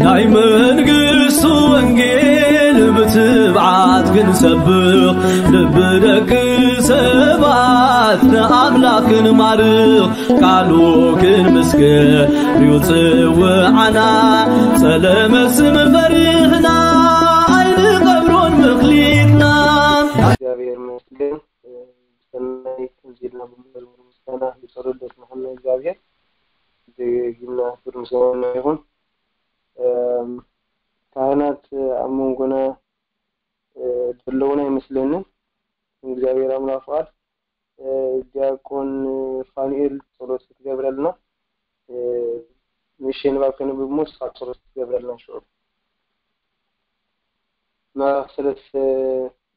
ናይ መንግስቱ ወንጌል ብትብዓት ክንሰብኽ፣ ልቢ ደቂ ሰባት ንኣምላኽ ክንማርኽ፣ ቃሉ ክንምስክር እዩ ጽውዓና። ጸለመ ስም ፈሪህና ኣይንቐብሮን ምኽሊትና። እግዚኣብሔር ይመስገን። ብሰናይ ከምዚ ኢልና ብምንበር ምስጋና ብጸሎት ደስማዕና እግዚኣብሔር። ደጊምና ክብሪ ምስጋና ይኹን። እም፣ ካህናት ኣብ መንጎና፣ እ፣ ዘለዉን ኣይመስለንን። እግዚኣብሔር ኣምላኽ ፍቓድ፣ እ፣ ዲያቆን ፋኑኤል ጸሎት ክትገብረልና፣ እ፣ ንእሽተይ ንባብ ከንብብ እሞ ንስኻ ጸሎት ክትገብረልና ሽዑ። ምዕራፍ ሰለስተ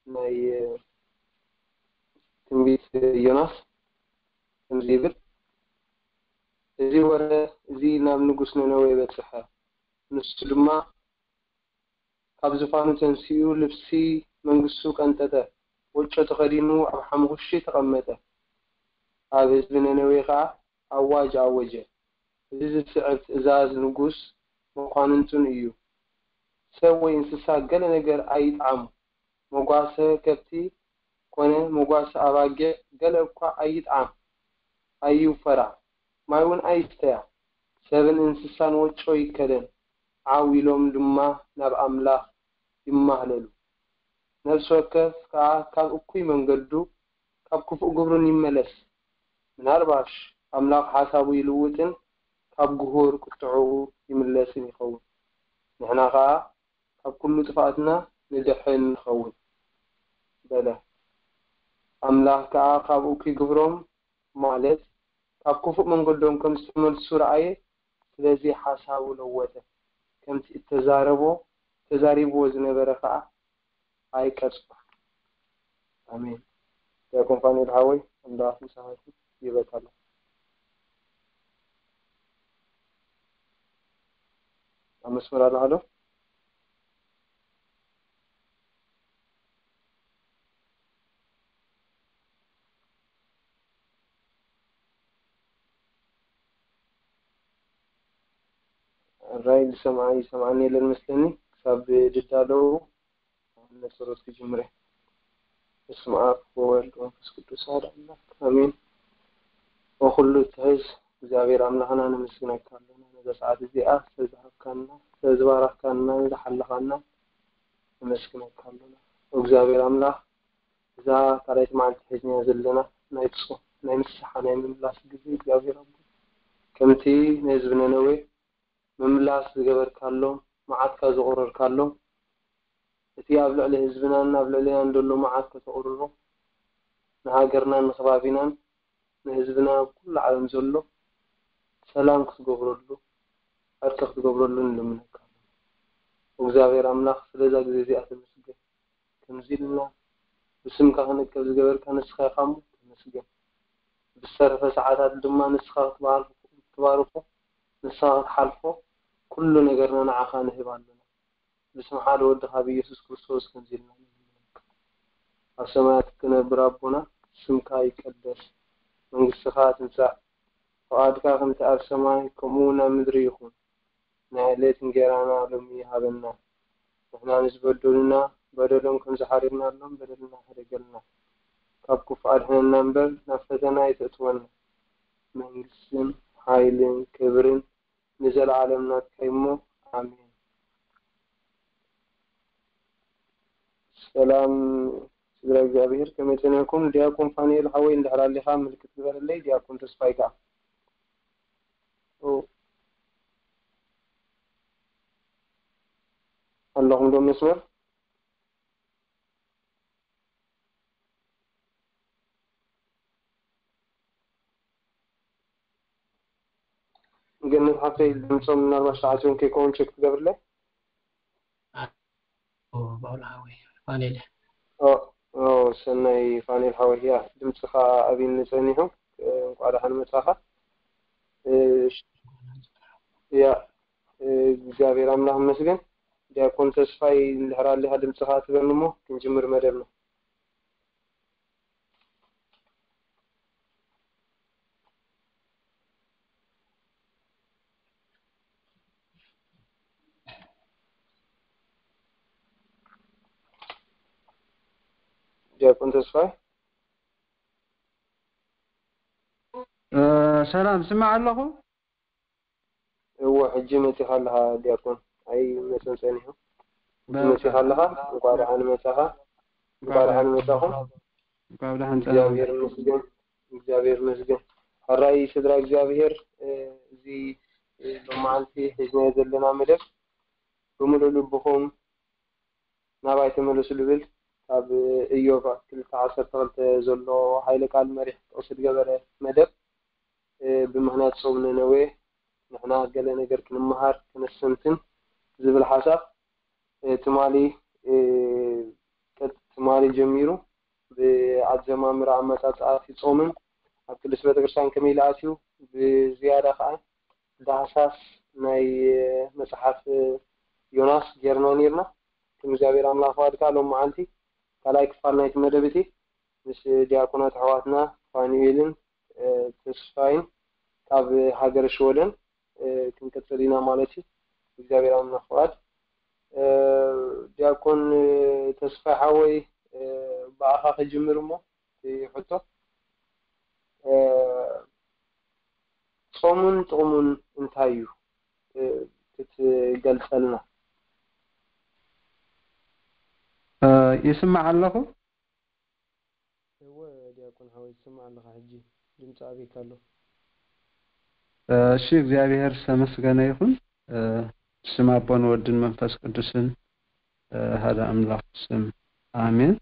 ናይ፣ እ፣ ትንቢት ዮናስ ከምዚ ይብል፣ እዚ ወረ እዚ ናብ ንጉስ ነነዌ በጽሐ። ንሱ ድማ ካብ ዝፋኑ ተንሲኡ ልብሲ መንግስቱ ቀንጠጠ፣ ወጮ ተኸዲኑ ኣብ ሓሙኽሽቲ ተቐመጠ። ኣብ ህዝቢ ነነዌ ኸኣ ኣዋጅ ኣወጀ። እዚ ዝስዕብ ትእዛዝ ንጉስ መኳንንቱን እዩ። ሰብ ወይ እንስሳ ገለ ነገር ኣይጥዓሙ። መጓሰ ከብቲ ኮነ መጓሰ ኣባጊዕ ገለ እኳ ኣይጥዓም፣ ኣይውፈራ፣ ማይ እውን ኣይስተያ። ሰብን እንስሳን ወጮ ይከደን፣ ዓው ኢሎም ድማ ናብ ኣምላኽ ይማህለሉ። ነፍሲ ወከፍ ከኣ ካብ እኩይ መንገዱ፣ ካብ ክፉእ ግብሩን ይመለስ። ምናልባሽ ኣምላኽ ሓሳቡ ይልውጥን ካብ ግሁር ቁጥዕኡ ይምለስን ይኸውን። ንሕና ከኣ ካብ ኩሉ ጥፍኣትና ንድሕን ንኸውን በለ። ኣምላኽ ከኣ ካብ እኩይ ግብሮም፣ ማለት ካብ ክፉእ መንገዶም ከም ዝተመልሱ ረኣየ፣ ስለዚ ሓሳቡ ለወጠ። ከምቲ እተዛረቦ፣ ተዛሪብዎ ዝነበረ ከኣ ኣይቀጽዖን። ኣሜን። ዲያቆን ፋኑኤል ሓወይ፣ ኣምላኽ ምሳኻ ይኹን። ይበቃ ኣሎ። ኣብ መስመር ኣለኻ ዶ? ራይ ዝሰምዓ ይሰምዓኒ የለን መስለኒ። ክሳብ ድዳለዉ ነጸሎት ክጅምር እየ። በስመ ኣብ ወወልድ ወመንፈስ ቅዱስ ኣሐዱ ኣምላክ ኣሜን። ወኩሉ እትሕዝ እግዚኣብሔር ኣምላኽና ነመስግነካ ኣሎና። ነዛ ሰዓት እዚኣ ስለዝሃብካና፣ ስለዝባረኽካና፣ ንዝሓለኻና ነመስግነካ ኣሎና። እግዚኣብሔር ኣምላኽ እዛ ካልኣይቲ መዓልቲ ሒዝናያ ዘለና ናይ ጾም፣ ናይ ንስሓ፣ ናይ ምምላስ ግዜ እግዚኣብሔር ኣቦ ከምቲ ንህዝቢ ነነዌ ምምላስ ዝገበርካሎም፣ መዓትካ ዘቑረርካሎም፣ እቲ ኣብ ልዕሊ ህዝብናን ኣብ ልዕሌናን ዘሎ መዓት ከተቑርሮ፣ ንሃገርናን ንከባቢናን ንህዝብና ኣብ ኩሉ ዓለም ዘሎ ሰላም ክትገብረሉ፣ ዕርቂ ክትገብረሉ ንልምነካ። እግዚኣብሔር ኣምላኽ ስለዛ ግዜ እዚኣ ተመስገን። ከምዚ ኢልና ብስምካ ክንእከብ ዝገበርካ ንስኻ ኢኻ እሞ ተመስገን። ብዝተረፈ ሰዓታት ድማ ንስኻ ክትባርኾ፣ ክትባርኾ፣ ንስኻ ክትሓልፎ፣ ኩሉ ነገርና ንዓኻ ንህብ ኣለና። ብስም ሓደ ወድኻ ብኢየሱስ ክርስቶስ ከምዚ ኢልና ንልምነካ። ኣብ ሰማያት እትነብር ኣቦና፣ ስምካ ይቀደስ፣ መንግስትኻ ትምጻእ፣ ፍቓድካ ከምቲ ኣብ ሰማይ ከምኡ እውን ኣብ ምድሪ ይኹን። ናይ ዕለት እንጌራና ሎሚ ሃበና። ንሕና ንዝበደሉና በደሎም ከም ዝሓረድናሎም በደልና ሕደገልና። ካብ ክፉእ ኣድሕነና እምበር ናብ ፈተና ኣይተእትወና። መንግስትን ሓይልን ክብርን ንዘለዓለም ናትካ እዩ እሞ ኣሜን። ሰላም ስድራ እግዚኣብሔር፣ ከመይ ጸኒሕኩም? ዲያቆን ፋኑኤል ሓወይ እንድሕር ኣሊኻ ምልክት ግበረለይ። ዲያቆን ተስፋይ ከኣ ኦ፣ ኣለኹም ዶ መስመር? ገነት ሓፍተይ ድምፆም ምናልባት ተዓፅዮም ከይከውን ቸክ ትገብርለይ? ኦ፣ ባውላ ሓወይ፣ ፋኔል። ኦ፣ ኦ፣ ሰናይ ፋኔል ሓወይ፣ ያ፣ ድምፅኻ ኣብይኒ ጸኒሑ፣ እንኳዕ ደሓን መጻኻ። እ፣ ያ፣ እ፣ እግዚኣብሔር ኣምላኽ ይመስገን። ዲያቆን ተስፋይ እንድሕር ኣሊኻ ድምፅኻ ትበኒ እሞ ክንጅምር መደብና። ዲያቆን ተስፋይ። እ፣ ሰላም፣ ስማዕ ኣለኹ። እወ፣ ሕጂ መጺኻ ኣለኻ ዲያቆን። ኣይ መጸን ጸኒሑ። ሕጂ በቃ። መጺኻ ኣለኻ። እንኳዕ ደሓን መጻኻ። እንኳዕ ደሓን መጻኹም። እንኳዕ ደሓን ጸናሕ። እግዚኣብሔር ይመስገን። እግዚኣብሔር ይመስገን። ሕራይ ስድራ እግዚኣብሔር፣ እ፣ እዚ፣ እ፣ ሎማዓንቲ ሒዝናዮ ዘለና መደብ ብምሉእ ልብኹም ናባይ ተመለሱ ልብል ካብ እዮብ ክልተ ዓሰርተ ክልተ ዘሎ ሓይለ ቃል መሪሕ ጥቕሲ ዝገበረ መደብ፣ እ፣ ብምኽንያት ጾም ነነዌ ንሕና ገለ ነገር ክንመሃር ክነስተንትን ዝብል ሓሳብ፣ እ፣ ትማሊ፣ እ፣ ቅድ-፣ ትማሊ ጀሚሩ ብኣጀማምራ ኣመጻጽኣ እቲ ጾምን ኣብ ቅድስት ቤተክርስትያን ከመይ ኢሉ ኣትዩ ብዝያዳ ከኣ ዳህሳስ ናይ መጽሓፍ ዮናስ ጌርና ኔርና። ከም እግዚኣብሔር ኣምላኽ ፈቓድ ከኣ ሎም መዓልቲ ካልኣይ ክፋል ናይቲ መደብ እቲ ምስ ዲያቆናት ኣሕዋትና ፋኑኤልን፣ እ፣ ተስፋይን ካብ ሃገረ ሽወደን፣ እ፣ ክንቅጽል ኢና ማለት እዩ። እግዚኣብሔር ኣምላኽ ፈቓድ። እ፣ ዲያቆን፣ እ፣ ተስፋይ ሓወይ፣ እ፣ ብኣኻ ክጅምር እሞ እቲ ሕቶ፣ እ፣ ጾምን ጥቕሙን እንታይ እዩ? እ፣ ክትገልጸልና። እ፣ ይስማዕ ኣለኹ? እወ ዲያቆን ሓወይ፣ ትስማዕ ኣለኻ ሕጂ። ድምፂ ኣበይካ ኣሎ? እ፣ እሺ፣ እግዚኣብሔር ዝተመስገነ ይኹን። እ፣ ብስም ኣቦን ወድን መንፈስ ቅዱስን፣ እ፣ ሓደ ኣምላኽ ስም፣ ኣሜን።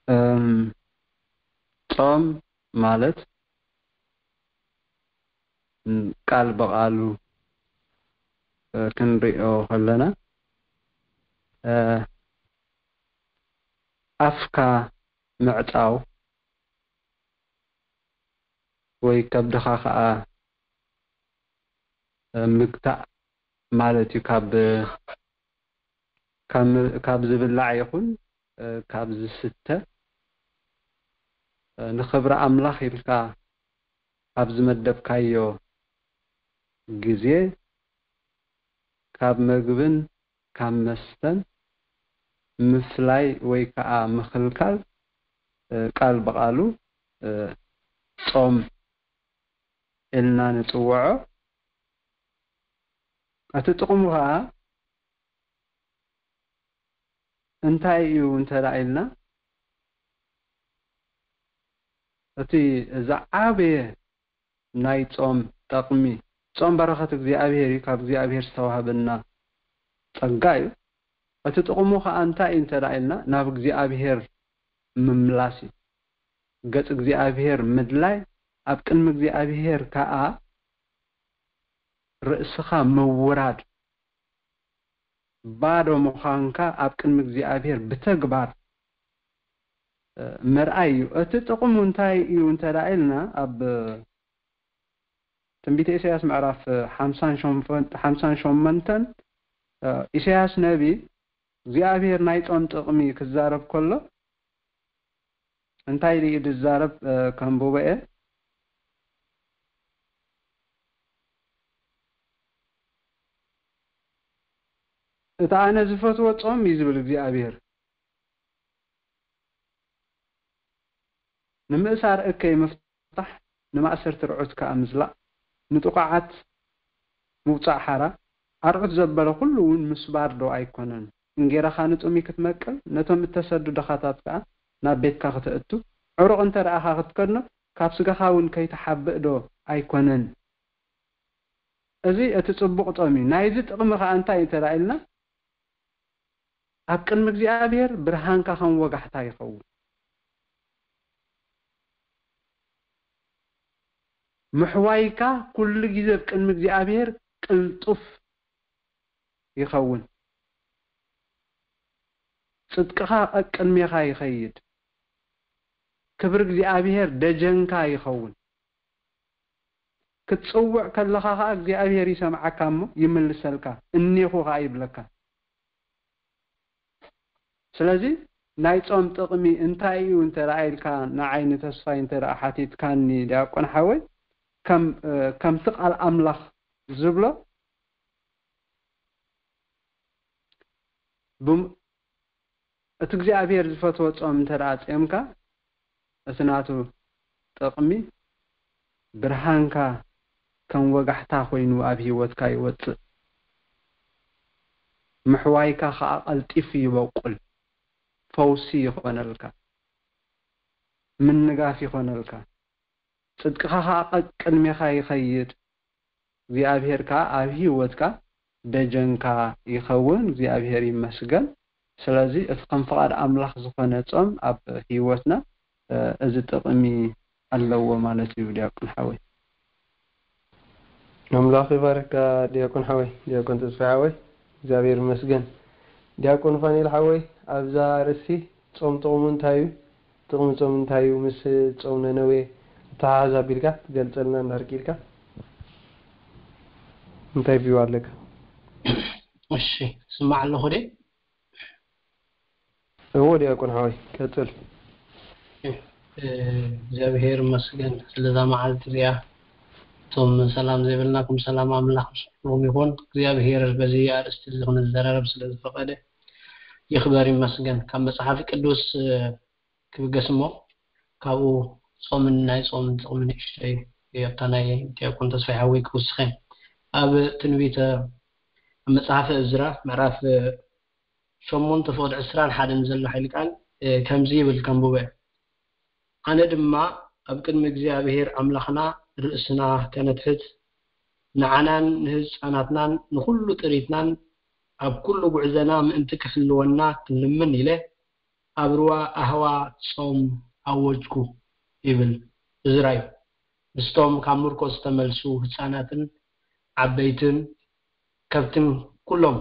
እም፣ ጾም ማለት፣ እም፣ ቃል ብቓሉ፣ እ፣ ክንሪኦ ከለና፣ እ፣ ኣፍካ ምዕጻው ወይ ከብድኻ ኸኣ፣ እ፣ ምግታእ ማለት እዩ። ካብ፣ ካብ፣ ካብ ዝብላዕ ይኹን፣ እ፣ ካብ ዝስተ፣ እ፣ ንኽብሪ ኣምላኽ ኢልካ ኣብ ዝመደብካዮ ግዜ ካብ መግብን ካብ መስተን ምፍላይ ወይ ከኣ ምኽልካል፣ እ፣ ቃል ብቓሉ፣ እ፣ ጾም ኢልና ንጽውዖ። እቲ ጥቕሙ ከኣ እንታይ እዩ እንተ ደኣ ኢልና፣ እቲ ዝዓበየ ናይ ጾም ጠቕሚ፣ ጾም በረኸት እግዚኣብሔር እዩ፣ ካብ እግዚኣብሔር ዝተዋህበና ጸጋ እዩ። እቲ ጥቕሙ ከኣ እንታይ እዩ እንተ ደኣ ኢልና፣ ናብ እግዚኣብሔር ምምላስ እዩ። ገጽ እግዚኣብሔር ምድላይ፣ ኣብ ቅድሚ እግዚኣብሔር ከኣ ርእስኻ ምውራድ፣ ባዶ ምዃንካ ኣብ ቅድሚ እግዚኣብሔር ብተግባር፣ እ፣ ምርኣይ እዩ። እቲ ጥቕሙ እንታይ እዩ እንተ ደኣ ኢልና፣ ኣብ ትንቢተ ኢሳያስ ምዕራፍ ሓምሳን ሸሞንተን፣ ሓምሳን ሸሞንተን፣ እ፣ ኢሳያስ ነቢ እግዚኣብሔር ናይ ጾም ጥቕሚ ክዛረብ ከሎ እንታይ ኢሉ እዩ ዝዛረብ? እ፣ ከንብቦ እየ። እቲ ኣነ ዝፈትዎ ጾም እዩ ዝብል እግዚኣብሔር። ንምእሳር እከይ ምፍታሕ፣ ንማእሰርቲ ርዑት ከኣ ምዝላቕ፣ ንጥቑዓት ምውጻእ ሓራ፣ ኣርዑት ዘበለ ኩሉ እውን ምስባር ዶ ኣይኮነን? እንጌራኻ ንጥሚ ክትመቅል፣ ነቶም እተሰዱ ድኻታት ከኣ ናብ ቤትካ ክተእቱ፣ ዕሩቕ እንተ ደኣኻ ክትከድኖ፣ ካብ ስጋኻ እውን ከይትሓብእ ዶ ኣይኮነን? እዚ እቲ ጽቡቕ ጾም እዩ። ናይዚ ጥቕሚ ከኣ እንታይ እዩ እንተ ደኣ ኢልና፣ ኣብ ቅድሚ እግዚኣብሔር ብርሃንካ ከም ወጋሕታ ይኸውን። ምሕዋይካ ኩሉ ግዜ ኣብ ቅድሚ እግዚኣብሔር ቅልጡፍ ይኸውን። ጽድቅኻ ቀቅድሜኻ ይኸይድ። ክብሪ እግዚኣብሔር ደጀንካ ይኸውን። ክትጽውዕ ከለኻ ኸኣ እግዚኣብሔር ይሰምዓካ እሞ ይምልሰልካ፣ እኔኹ ኸኣ ይብለካ። ስለዚ ናይ ጾም ጥቕሚ እንታይ እዩ እንተ ደኣ ኢልካ ንዓይ ንተስፋይ እንተ ደኣ ሓቲትካኒ ዲያቆን ሓወይ፣ ከም፣ እ፣ ከምቲ ቃል ኣምላኽ ዝብሎ ብም-፣ እቲ እግዚኣብሔር ዝፈትዎ ጾም እንተ ደኣ ጾምካ፣ እቲ ናቱ ጥቕሚ፣ ብርሃንካ ከም ወጋሕታ ኮይኑ ኣብ ህይወትካ ይወጽእ። ምሕዋይካ ከኣ ቀልጢፉ ይበቁል። ፈውሲ ይኾነልካ። ምንጋፍ ይኾነልካ። ጽድቅኻ ከኣ ቀቅድሜኻ ይኸይድ። እግዚኣብሔር ከኣ ኣብ ህይወትካ ደጀንካ ይኸውን። እግዚኣብሔር ይመስገን። ስለዚ እቲ ከም ፍቓድ ኣምላኽ ዝኾነ ጾም ኣብ ህይወትና፣ እ፣ እዚ ጥቕሚ ኣለዎ ማለት እዩ፣ ዲያቆን ሓወይ። ኣምላኽ ይባርካ ዲያቆን ሓወይ፣ ዲያቆን ተስፋ ሓወይ፣ እግዚኣብሔር ይመስገን። ዲያቆን ፋኒል ሓወይ፣ ኣብዛ ርእሲ ጾም ጥቕሙ እንታይ እዩ? ጥቕሚ ጾም እንታይ እዩ? ምስ ጾም ነነዌ ኣተሓሕዛ ኣቢልካ ትገልጸልና እንድሕር ክኢልካ? እንታይ ቪው ኣለካ? እሺ፣ ስማዕ ኣለኹ ደ? እዎ ዲያቆን ሓወይ፣ ቀጽል። እ፣ እግዚኣብሔር ይመስገን ስለዛ መዓልቲ እዚኣ። እቶም ሰላም ዘይብልናኩም ሰላም ኣምላኽ ምስ ኩሉኹም ይኹን። እግዚኣብሔር በዚ ኣርእስቲ እዚ ክንዘራረብ ስለ ዝፈቐደ ይኽበር ይመስገን። ካብ መጽሓፍ ቅዱስ፣ እ፣ ክብገስ እሞ ካብኡ ጾምን ናይ ጾምን ጥቕሚ ንእሽተይ ኣብታ ናይ ዲያቆን ተስፋይ ሓወይ ክውስኸ። ኣብ ትንቢተ፣ ኣብ መጽሓፈ እዝራ ምዕራፍ ሸሞንተ ፍቕዲ ዕስራን ሓደን ዘሎ ሓይሊ ቃል፣ እ፣ ከምዚ ይብል ከንብቦ እየ። ኣነ ድማ ኣብ ቅድሚ እግዚኣብሔር ኣምላኽና ርእስና ከነትሕት፣ ንዓናን ንህፃናትናን ንኹሉ ጥሪትናን ኣብ ኩሉ ጉዕዘና ምእንቲ ክሕልወና ክንልምን ኢለ ኣብ ሩባ ኣህዋ ጾም ኣወጅኩ ይብል እዝራ እዩ። ምስቶም ካብ ምርኮ ዝተመልሱ ህፃናትን ዓበይትን ከብትን ኩሎም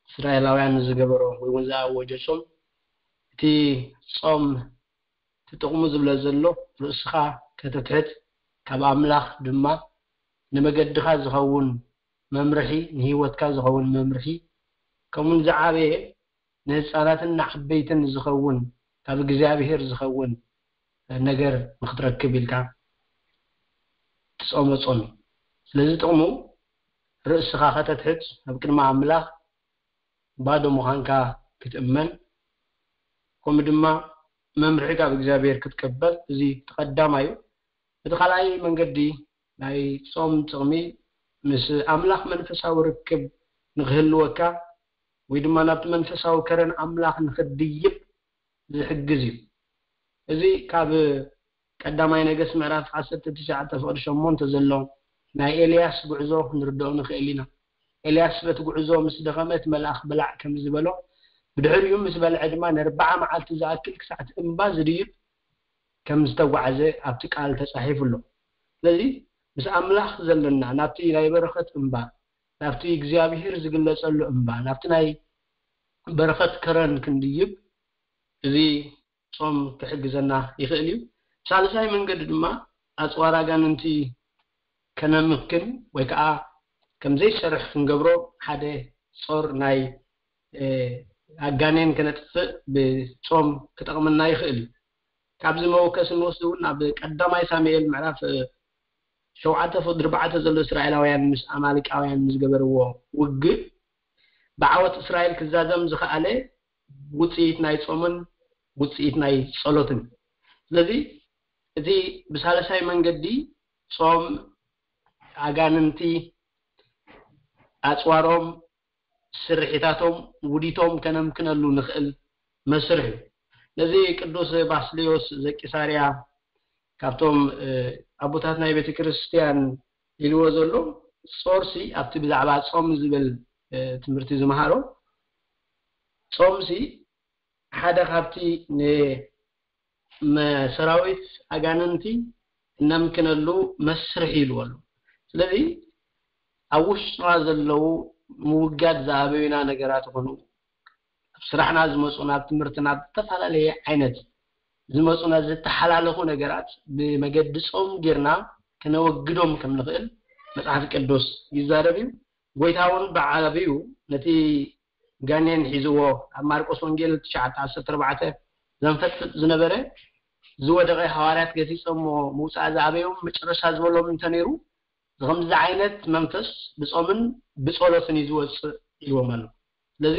እስራኤላውያን ዝገበሮ ወይ እውን ዝኣወጀ ጾም፣ እቲ ጾም እቲ ጥቕሙ ዝብለ ዘሎ ርእስኻ ከተትሕት፣ ካብ ኣምላኽ ድማ ንመገድኻ ዝኸውን መምርሒ፣ ንህይወትካ ዝኸውን መምርሒ፣ ከምኡውን ዝዓበየ ንህፃናትን ንዓበይትን ዝኸውን ካብ እግዚኣብሔር ዝኸውን ነገር ንክትረክብ ኢልካ ትጾሞ ጾም እዩ። ስለዚ ጥቕሙ ርእስኻ ከተትሕት፣ ኣብ ቅድሚ ኣምላኽ ባዶ ምዃንካ ክትእመን፣ ከምኡ ድማ መምርሒ ካብ እግዚኣብሔር ክትቅበል፣ እዚ እቲ ቀዳማይ እዩ። እቲ ካልኣይ መንገዲ ናይ ጾም ጥቕሚ ምስ ኣምላኽ መንፈሳዊ ርክብ ንክህልወካ ወይ ድማ ናብቲ መንፈሳዊ ከረን ኣምላኽ ንክትድይብ ዝሕግዝ እዩ። እዚ ካብ ቀዳማይ ነገስት ምዕራፍ ዓሰርተ ትሽዓተ ፍቕዲ ሸሞንተ ዘሎ ናይ ኤልያስ ጉዕዞ ክንርድኦ ንኽእል ኢና። ኤልያስ በቲ ጉዕዞ ምስ ደኸመ እቲ መልኣኽ ብላዕ ከም ዝበሎ፣ ብድሕሪኡ ምስ በልዐ ድማ ንኣርብዓ መዓልቲ ዝኣክል ክሳዕ እቲ እምባ ዝድይብ ከም ዝተጓዕዘ ኣብቲ ቃል ተጻሒፉ ኣሎ። ስለዚ ምስ ኣምላኽ ዘለና ናብቲ ናይ በረኸት እምባ፣ ናብቲ እግዚኣብሔር ዝግለጸሉ እምባ፣ ናብቲ ናይ በረኸት ከረን ክንድይብ እዚ ጾም ክሕግዘና ይኽእል እዩ። ሳልሳይ መንገዲ ድማ ኣጽዋር ኣጋንንቲ ከነምክን ወይ ከዓ ከም ዘይሰርሕ ክንገብሮ ሓደ ጾር ናይ፣ እ፣ ኣጋኔን ከነጥፍእ ብጾም ክጠቕመና ይኽእል እዩ። ካብዚ መወከሲ ንወስድ እውን ኣብ ቀዳማይ ሳሙኤል ምዕራፍ፣ እ፣ ሸውዓተ ፍቕዲ ኣርባዕተ ዘሎ እስራኤላውያን ምስ ኣማሊቃውያን ዝገበርዎ ውግእ ብዓወት እስራኤል ክዛዘም ዝኸኣለ ውጽኢት ናይ ጾምን ውጽኢት ናይ ጸሎትን። ስለዚ እቲ ብሳልሳይ መንገዲ ጾም ኣጋንንቲ ኣጽዋሮም፣ ስርሒታቶም፣ ውዲቶም ከነምክነሉ ንኽእል መስርሕ እዩ። ነዚ ቅዱስ ባስልዮስ ዘቂሳርያ ካብቶም፣ እ፣ ኣቦታት ናይ ቤተ ክርስቲያን ኢልዎ ዘሎ ጾርሲ ኣብቲ ብዛዕባ ጾም ዝብል፣ እ፣ ትምህርቲ ዝመሃሮ ጾምሲ ሓደ ካብቲ ን-፣ መ-፣ ሰራዊት ኣጋንንቲ እነምክነሉ መስርሕ ኢልዎ ኣሎ። ስለዚ ኣብ ውሽጥና ዘለዉ ምውጋድ ዝኣበዩና ነገራት ይኹኑ፣ ኣብ ስራሕና ዝመፁና፣ ኣብ ትምህርትና፣ ኣብ ዝተፈላለየ ዓይነት ዝመፁና ዝተሓላለኹ ነገራት ብመገዲ ጾም ጌርና ከነወግዶም ከም ንኽእል መጽሓፍ ቅዱስ ይዛረብ እዩ። ጎይታ እውን ብዓብዩ ነቲ ጋኔን ሒዝዎ ኣብ ማርቆስ ወንጌል ትሽዓተ ዓሰርተ ኣርባዕተ ዘንፈጥፍጥ ዝነበረ ዝወደቐ ሃዋርያት ገሲጾሞ ምውጻእ ዝኣበዮም መጨረሻ ዝበሎም እንተነይሩ፣ ከምዚ ዓይነት መንፈስ ብጾምን ብጸሎትን እዩ ዝወጽእ ኢልዎም ኣሎ። ስለዚ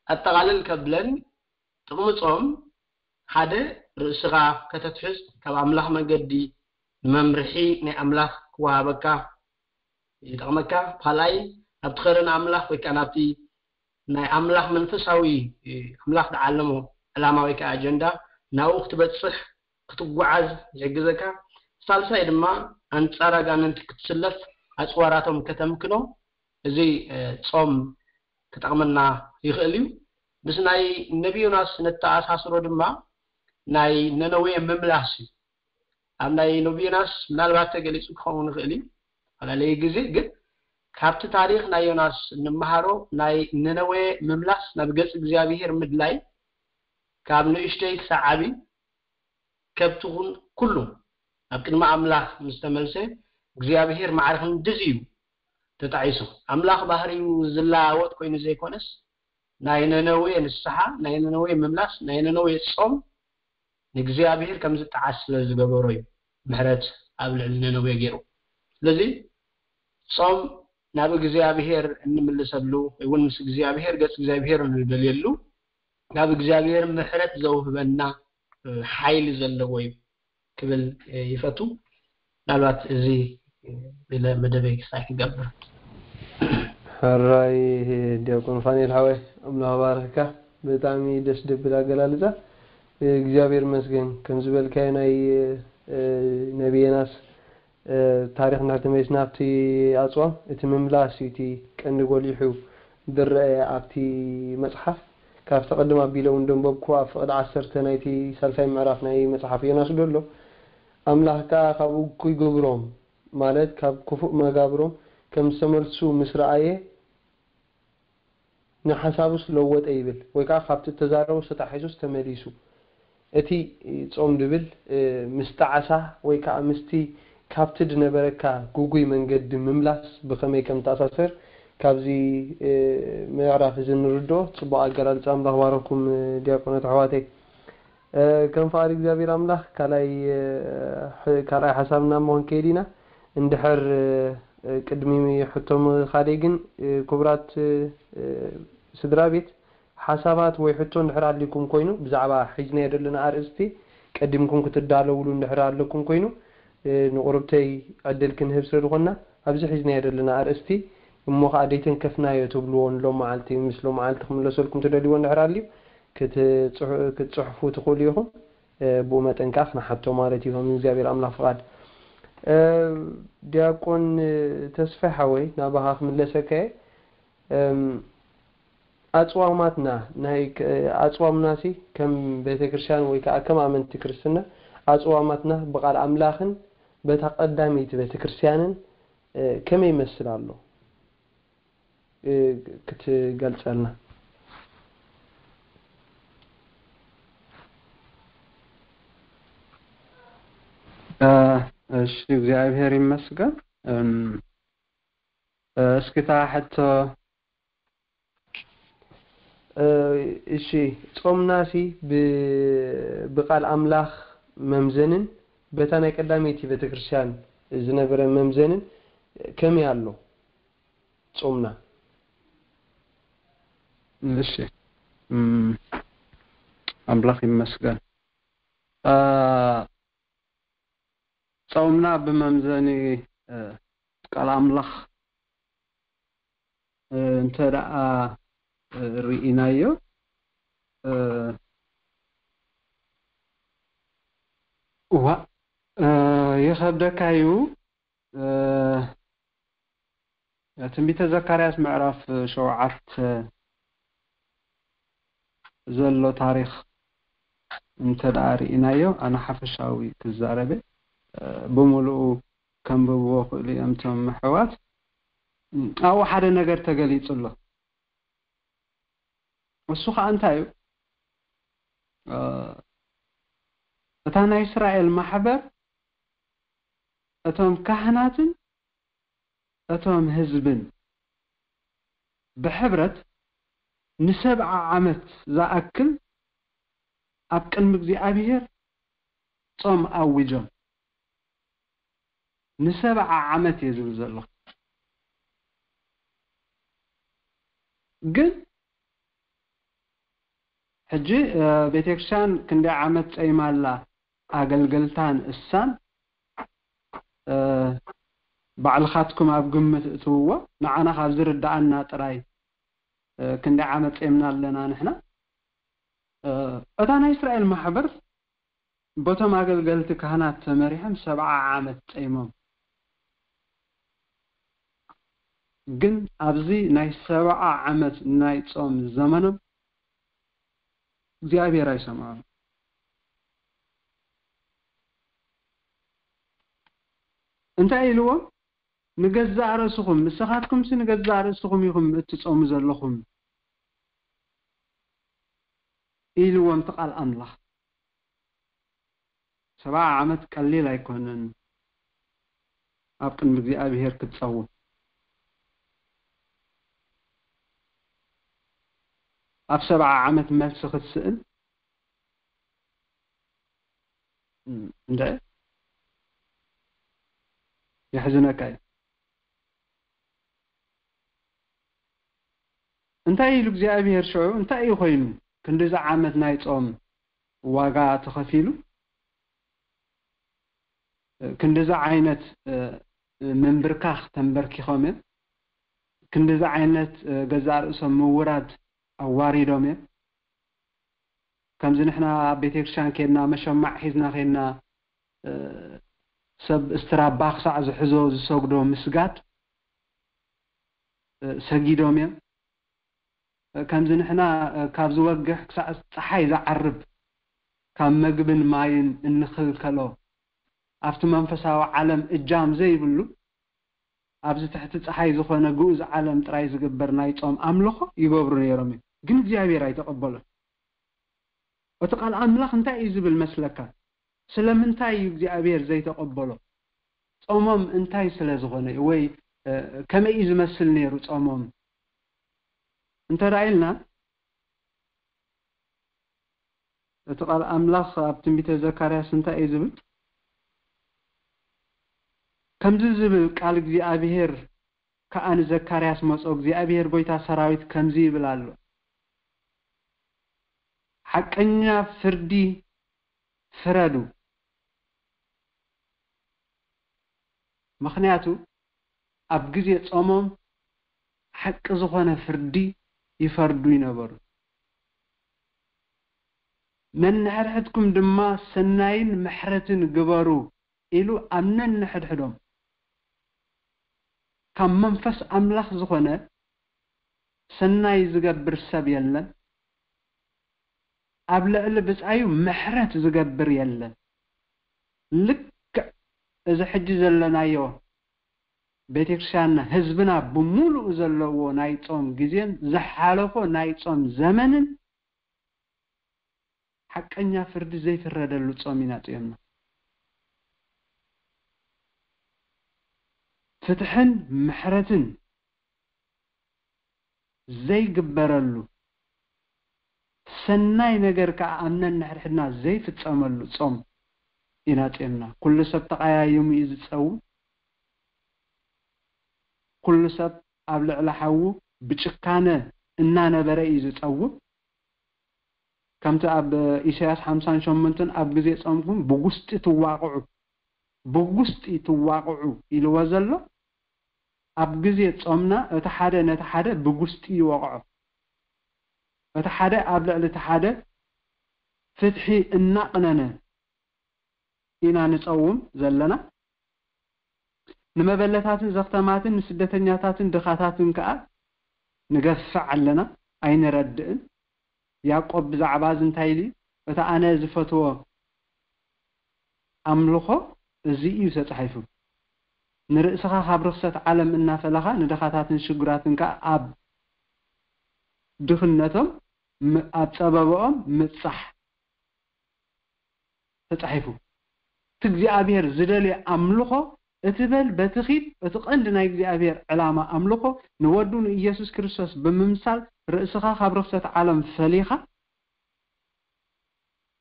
ኣጠቓልል ከብለን ጥቕሚ ጾም ሓደ ርእስኻ ከተትሕዝ፣ ካብ ኣምላኽ መገዲ ንመምርሒ ናይ ኣምላኽ ክወሃበካ ይጠቕመካ። ካልኣይ ኣብቲ ኸረን ኣምላኽ ወይ ከዓ ናብቲ ናይ ኣምላኽ መንፈሳዊ ኣምላኽ ዝዓለሞ ዕላማ ወይ ከዓ ኣጀንዳ ናብኡ ክትበፅሕ ክትጓዓዝ ይሕግዘካ። ሳልሳይ ድማ ኣንፃር ኣጋንንቲ ክትስለፍ ኣፅዋራቶም ከተምክኖ እዚ ጾም ክጠቕመና ይኽእል እዩ። ምስ ናይ ነቢ ዮናስ ነተኣሳስሮ ድማ ናይ ነነዌ ምምላስ እዩ። ኣብ ናይ ነቢ ዮናስ ምናልባት ተገሊጹ ክኸውን ይኽእል እዩ፣ ዝተፈላለየ ግዜ ግን ካብቲ ታሪኽ ናይ ዮናስ እንመሃሮ ናይ ነነዌ ምምላስ ናብ ገጽ እግዚኣብሄር ምድላይ ካብ ንእሽተይ ክሳብ ዓቢ ከብቲ ኩሉ ኣብ ቅድሚ ኣምላኽ ምስ ተመልሰ እግዚኣብሄር ማዕረ ክንድዚ እዩ ተጣዒሱ። ኣምላኽ ባህሪኡ ዝለዋወጥ ኮይኑ ዘይኮነስ ናይ ነነዌ ንስሓ፣ ናይ ነነዌ ምምላስ፣ ናይ ነነዌ ጾም ንእግዚኣብሄር ከም ዝጠዓስ ስለ ዝገበሮ እዩ ምሕረት ኣብ ልዕሊ ነነዌ ገይሩ። ስለዚ ጾም ናብ እግዚኣብሄር እንምልሰሉ ወይ እውን ምስ እግዚኣብሄር ገጽ እግዚኣብሄር እንደልየሉ ናብ እግዚኣብሄር ምሕረት ዘውህበና ሓይሊ ዘለዎ እዩ ክብል ይፈቱ። ምናልባት እዚ ኢለ መደበይ ክሳይ ክገብር። ሕራይ ዲያቆን ፋኒኤል ሓወይ ኣምላኽ ባርክካ። ብጣዕሚ ደስ ደብል ኣገላልፃ። እግዚኣብሔር መስገን ከም ዝበልካዮ ናይ ነቢየናስ ታሪኽ እንድሕር ተመሊስና ኣብቲ ኣፅዋም እቲ ምምላስ እዩ እቲ ቀንዲ ጎሊሑ ዝረአ ኣብቲ መፅሓፍ። ካብቲ ቅድም ኣቢለ እውን ደንበብኩ ኣብ ፍቕዲ ዓሰርተ ናይቲ ሳልሳይ ምዕራፍ ናይ መፅሓፍ ዮናስ ዘሎ ኣምላኽ ከኣ ካብኡ ክይገብሮም ማለት ካብ ክፉእ መጋብሮም ከም ዝተመልሱ ምስ ረኣየ ንሓሳቡስ ለወጠ ይብል ወይ ከዓ ካብቲ እተዛረቦስ ተታሒዙስ ተመሊሱ እቲ ጾም ድብል ምስ ጣዕሳ ወይ ከዓ ምስቲ ካብቲ ድነበረካ ግጉይ መንገዲ ምምላስ ብኸመይ ከም ተኣሳሰር ካብዚ ምዕራፍ እዚ ንርድኦ። ጽቡቕ ኣገላልጻ ኣምላኽ ባረኩም ዲያቆናት ኣሕዋተይ። ከም ፍቓድ እግዚኣብሔር ኣምላኽ ካልኣይ ካልኣይ ሓሳብና እሞ ክንከይድ ኢና። እንድሕር ቅድሚ ሕቶ ምኻደይ ግን ክቡራት ስድራ ቤት ሓሳባት ወይ ሕቶ እንድሕር ኣልይኩም ኮይኑ ብዛዕባ ሒዝናዮ ዘለና ኣርእስቲ ቀዲምኩም ክትዳለውሉ እንድሕር ኣለኩም ኮይኑ ንቁርብተይ ዕድል ክንህብ ስለ ዝኾንና ኣብዚ ሒዝናዮ ዘለና ኣርእስቲ እሞ ከዓ ደይተንከፍናዮ ትብልዎ ንሎም መዓልቲ ምስ ሎም መዓልቲ ክምለሰልኩም ትደልይዎ እንድሕር ኣልዩ ክትፅሑ- ክትፅሕፉ ትኽእሉ ኢኹም። ብኡ መጠን ከዓ ክንሓቶ ማለት እዩ ከም እግዚኣብሔር ኣምላኽ ፍቓድ። ዲያቆን ተስፋይ ሓወይ ናባኻ ክምለሰካ እየ። ኣፅዋማትና ናይ ኣፅዋምናሲ ከም ቤተክርስትያን ወይ ከዓ ከም ኣመንቲ ክርስትና ኣፅዋማትና ብቃል ኣምላኽን በታ ቀዳመይቲ ቤተክርስትያንን ከመይ ይመስል ኣሎ ክትገልፀልና? እሺ እግዚኣብሔር ይመስገን። እስኪ እታ ሕቶ እሺ ጾምናሲ ብቃል ኣምላኽ መምዘንን በታ ናይ ቀዳመይቲ ቤተክርስትያን ዝነበረ መምዘንን ከመይ ኣሎ ጾምና? እሺ ኣምላኽ ይመስገን። ጾምና ብመምዘኒ ቃል ኣምላኽ እንተ ደኣ ርኢናዮ እዋ ይኸብደካ እዩ። ትንቢተ ዘካርያስ ምዕራፍ ሸውዓተ ዘሎ ታሪኽ እንተ ደኣ ርኢናዮ ኣነ ሓፈሻዊ ክዛረበ ብምሉኡ ከንብብዎ ክእሉ እዮም እቶም ኣሕዋት። ኣብኡ ሓደ ነገር ተገሊጹ ኣሎ። እሱ ከዓ እንታይ እዩ? እታ ናይ እስራኤል ማሕበር እቶም ካህናትን እቶም ህዝብን ብሕብረት ንሰብዓ ዓመት ዝኣክል ኣብ ቅድሚ እግዚኣብሔር ጾም ኣዊጆም። ንሰብዓ ዓመት እየ ዝብል ዘለኹ። ግን ሕጂ ቤተክርስትያን ክንደይ ዓመት ጸይማ ኣላ? ኣገልገልታን እሳን ባዕልኻትኩም ኣብ ግምት እትውዎ። ንዓና ካብ ዝርዳኣና ጥራይ ክንደይ ዓመት ጸይምና ኣለና ንሕና? እታ ናይ እስራኤል ማሕበር በቶም ኣገልገልቲ ካህናት ተመሪሖም ሰብዓ ዓመት ጸይሞም። ግን ኣብዚ ናይ ሰብዓ ዓመት ናይ ጾም ዘመኖም እግዚኣብሔር ኣይሰምዖም። እንታይ ኢልዎም? ንገዛእ ርእስኹም፣ ንስኻትኩምሲ ንገዛእ ርእስኹም ኢኹም እትጾሙ ዘለኹም ኢልዎም እቲ ቃል ኣምላኽ። ሰብዓ ዓመት ቀሊል ኣይኮነን ኣብ ቅድሚ እግዚኣብሔር ክትጸውም። ኣብ ሰብዓ ዓመት መልሲ ክትስእን እንደ የሕዝነካ እዩ። እንታይ ኢሉ እግዚኣብሔር ሽዑ? እንታይ እዩ ኮይኑ? ክንዲዚ ዓመት ናይ ጾም ዋጋ ተኸፊሉ፣ ክንዲዚ ዓይነት ምንብርካኽ ተንበርኪኾም እዮም። ክንዲዚ ዓይነት ገዛእ ርእሶም ምውራድ ኣዋሪዶም እዮም። ከምዚ ንሕና ኣብ ቤተክርስትያን ኬድና፣ መሸማዕ ሒዝና ኬድና፣ ሰብ እስትራባ ክሳዕ ዝሕዞ ዝሰግዶ ምስጋድ ሰጊዶም እዮም። ከምዚ ንሕና ካብ ዝወግሕ ክሳዕ ጸሓይ ዝዓርብ፣ ካብ መግብን ማይን እንኽልከሎ፣ ኣብቲ መንፈሳዊ ዓለም እጃም ዘይብሉ፣ ኣብዚ ትሕቲ ጸሓይ ዝኾነ ግኡዝ ዓለም ጥራይ ዝግበር ናይ ጾም ኣምልኾ ይገብሩ ነይሮም እዮም። ግን እግዚኣብሔር ኣይተቐበሎን። እቲ ቃል ኣምላኽ እንታይ እዩ ዝብል መስለካ? ስለምንታይ እዩ እግዚኣብሔር ዘይተቐበሎ? ጾሞም እንታይ ስለ ዝኾነ እዩ? ወይ ከመይ እዩ ዝመስል ነይሩ ጾሞም? እንተ ኢልና፣ እቲ ቃል ኣምላኽ ኣብ ትንቢተ ዘካርያስ እንታይ እዩ ዝብል? ከምዚ ዝብል ቃል እግዚኣብሔር ከኣ ንዘካርያስ መጾ፣ እግዚኣብሔር ጐይታ ሰራዊት ከምዚ ይብል ኣሎ፣ ሓቀኛ ፍርዲ ፍረዱ። ምኽንያቱ ኣብ ግዜ ጾሞም ሓቂ ዝኾነ ፍርዲ ይፈርዱ ይነበሩ። ነንሕድሕድኩም ድማ ሰናይን ምሕረትን ግበሩ ኢሉ ኣብ ነንሕድሕዶም ካብ መንፈስ ኣምላኽ ዝኾነ ሰናይ ዝገብር ሰብ የለን። ኣብ ልዕሊ ብጻዩ ምሕረት ዝገብር የለን። ልክዕ እዚ ሕጂ ዘለናዮ ቤተክርስትያንና ህዝብና ብምሉኡ ዘለዎ ናይ ጾም ግዜን ዝሓለፎ ናይ ጾም ዘመንን ሓቀኛ ፍርዲ ዘይፍረደሉ ጾም ኢና ጺዮምና። ፍትሕን ምሕረትን ዘይግበረሉ ሰናይ ነገር ከኣ ኣብ ነንሕድሕድና ዘይፍጸመሉ ጾም ኢና ጺዮምና። ኩሉ ሰብ ተቐያይሙ እዩ ዝጸውም። ኩሉ ሰብ ኣብ ልዕሊ ሓዉ ብጭካነ እናነበረ እዩ ዝጸውም። ከምቲ ኣብ ኢሳያስ ሓምሳን ሸሞንተን ኣብ ግዜ ጾምኩም ብጉስጢ ትዋቕዑ፣ ብጉስጢ ትዋቕዑ ኢልዎ ዘሎ፣ ኣብ ግዜ ጾምና እቲ ሓደ ነቲ ሓደ ብጉስጢ ይወቕዖ። እቲ ሓደ ኣብ ልዕሊ እቲ ሓደ ፍትሒ እናቕነነ ኢና ንጸውም ዘለና። ንመበለታትን ዘኽተማትን ንስደተኛታትን ድኻታትን ከኣ ንገፍዕ ኣለና፣ ኣይንረድእን። ያዕቆብ ብዛዕባ እዚ እንታይ ኢሉ እዩ? እቲ ኣነ ዝፈትዎ ኣምልኾ እዚ እዩ ተጻሒፉ። ንርእስኻ ካብ ርኽሰት ዓለም እናፈለኻ ንድኻታትን ሽጉራትን ከኣ ኣብ ድኽነቶም ም-፣ ኣብ ጸበባኦም ምብጻሕ ተጻሒፉ። እቲ እግዚኣብሔር ዝደልዮ ኣምልኾ እቲ በል በቲ ኺድ፣ እቲ ቀንዲ ናይ እግዚኣብሔር ዕላማ ኣምልኾ ንወዱ ንኢየሱስ ክርስቶስ ብምምሳል ርእስኻ ካብ ርኽሰት ዓለም ፈሊኻ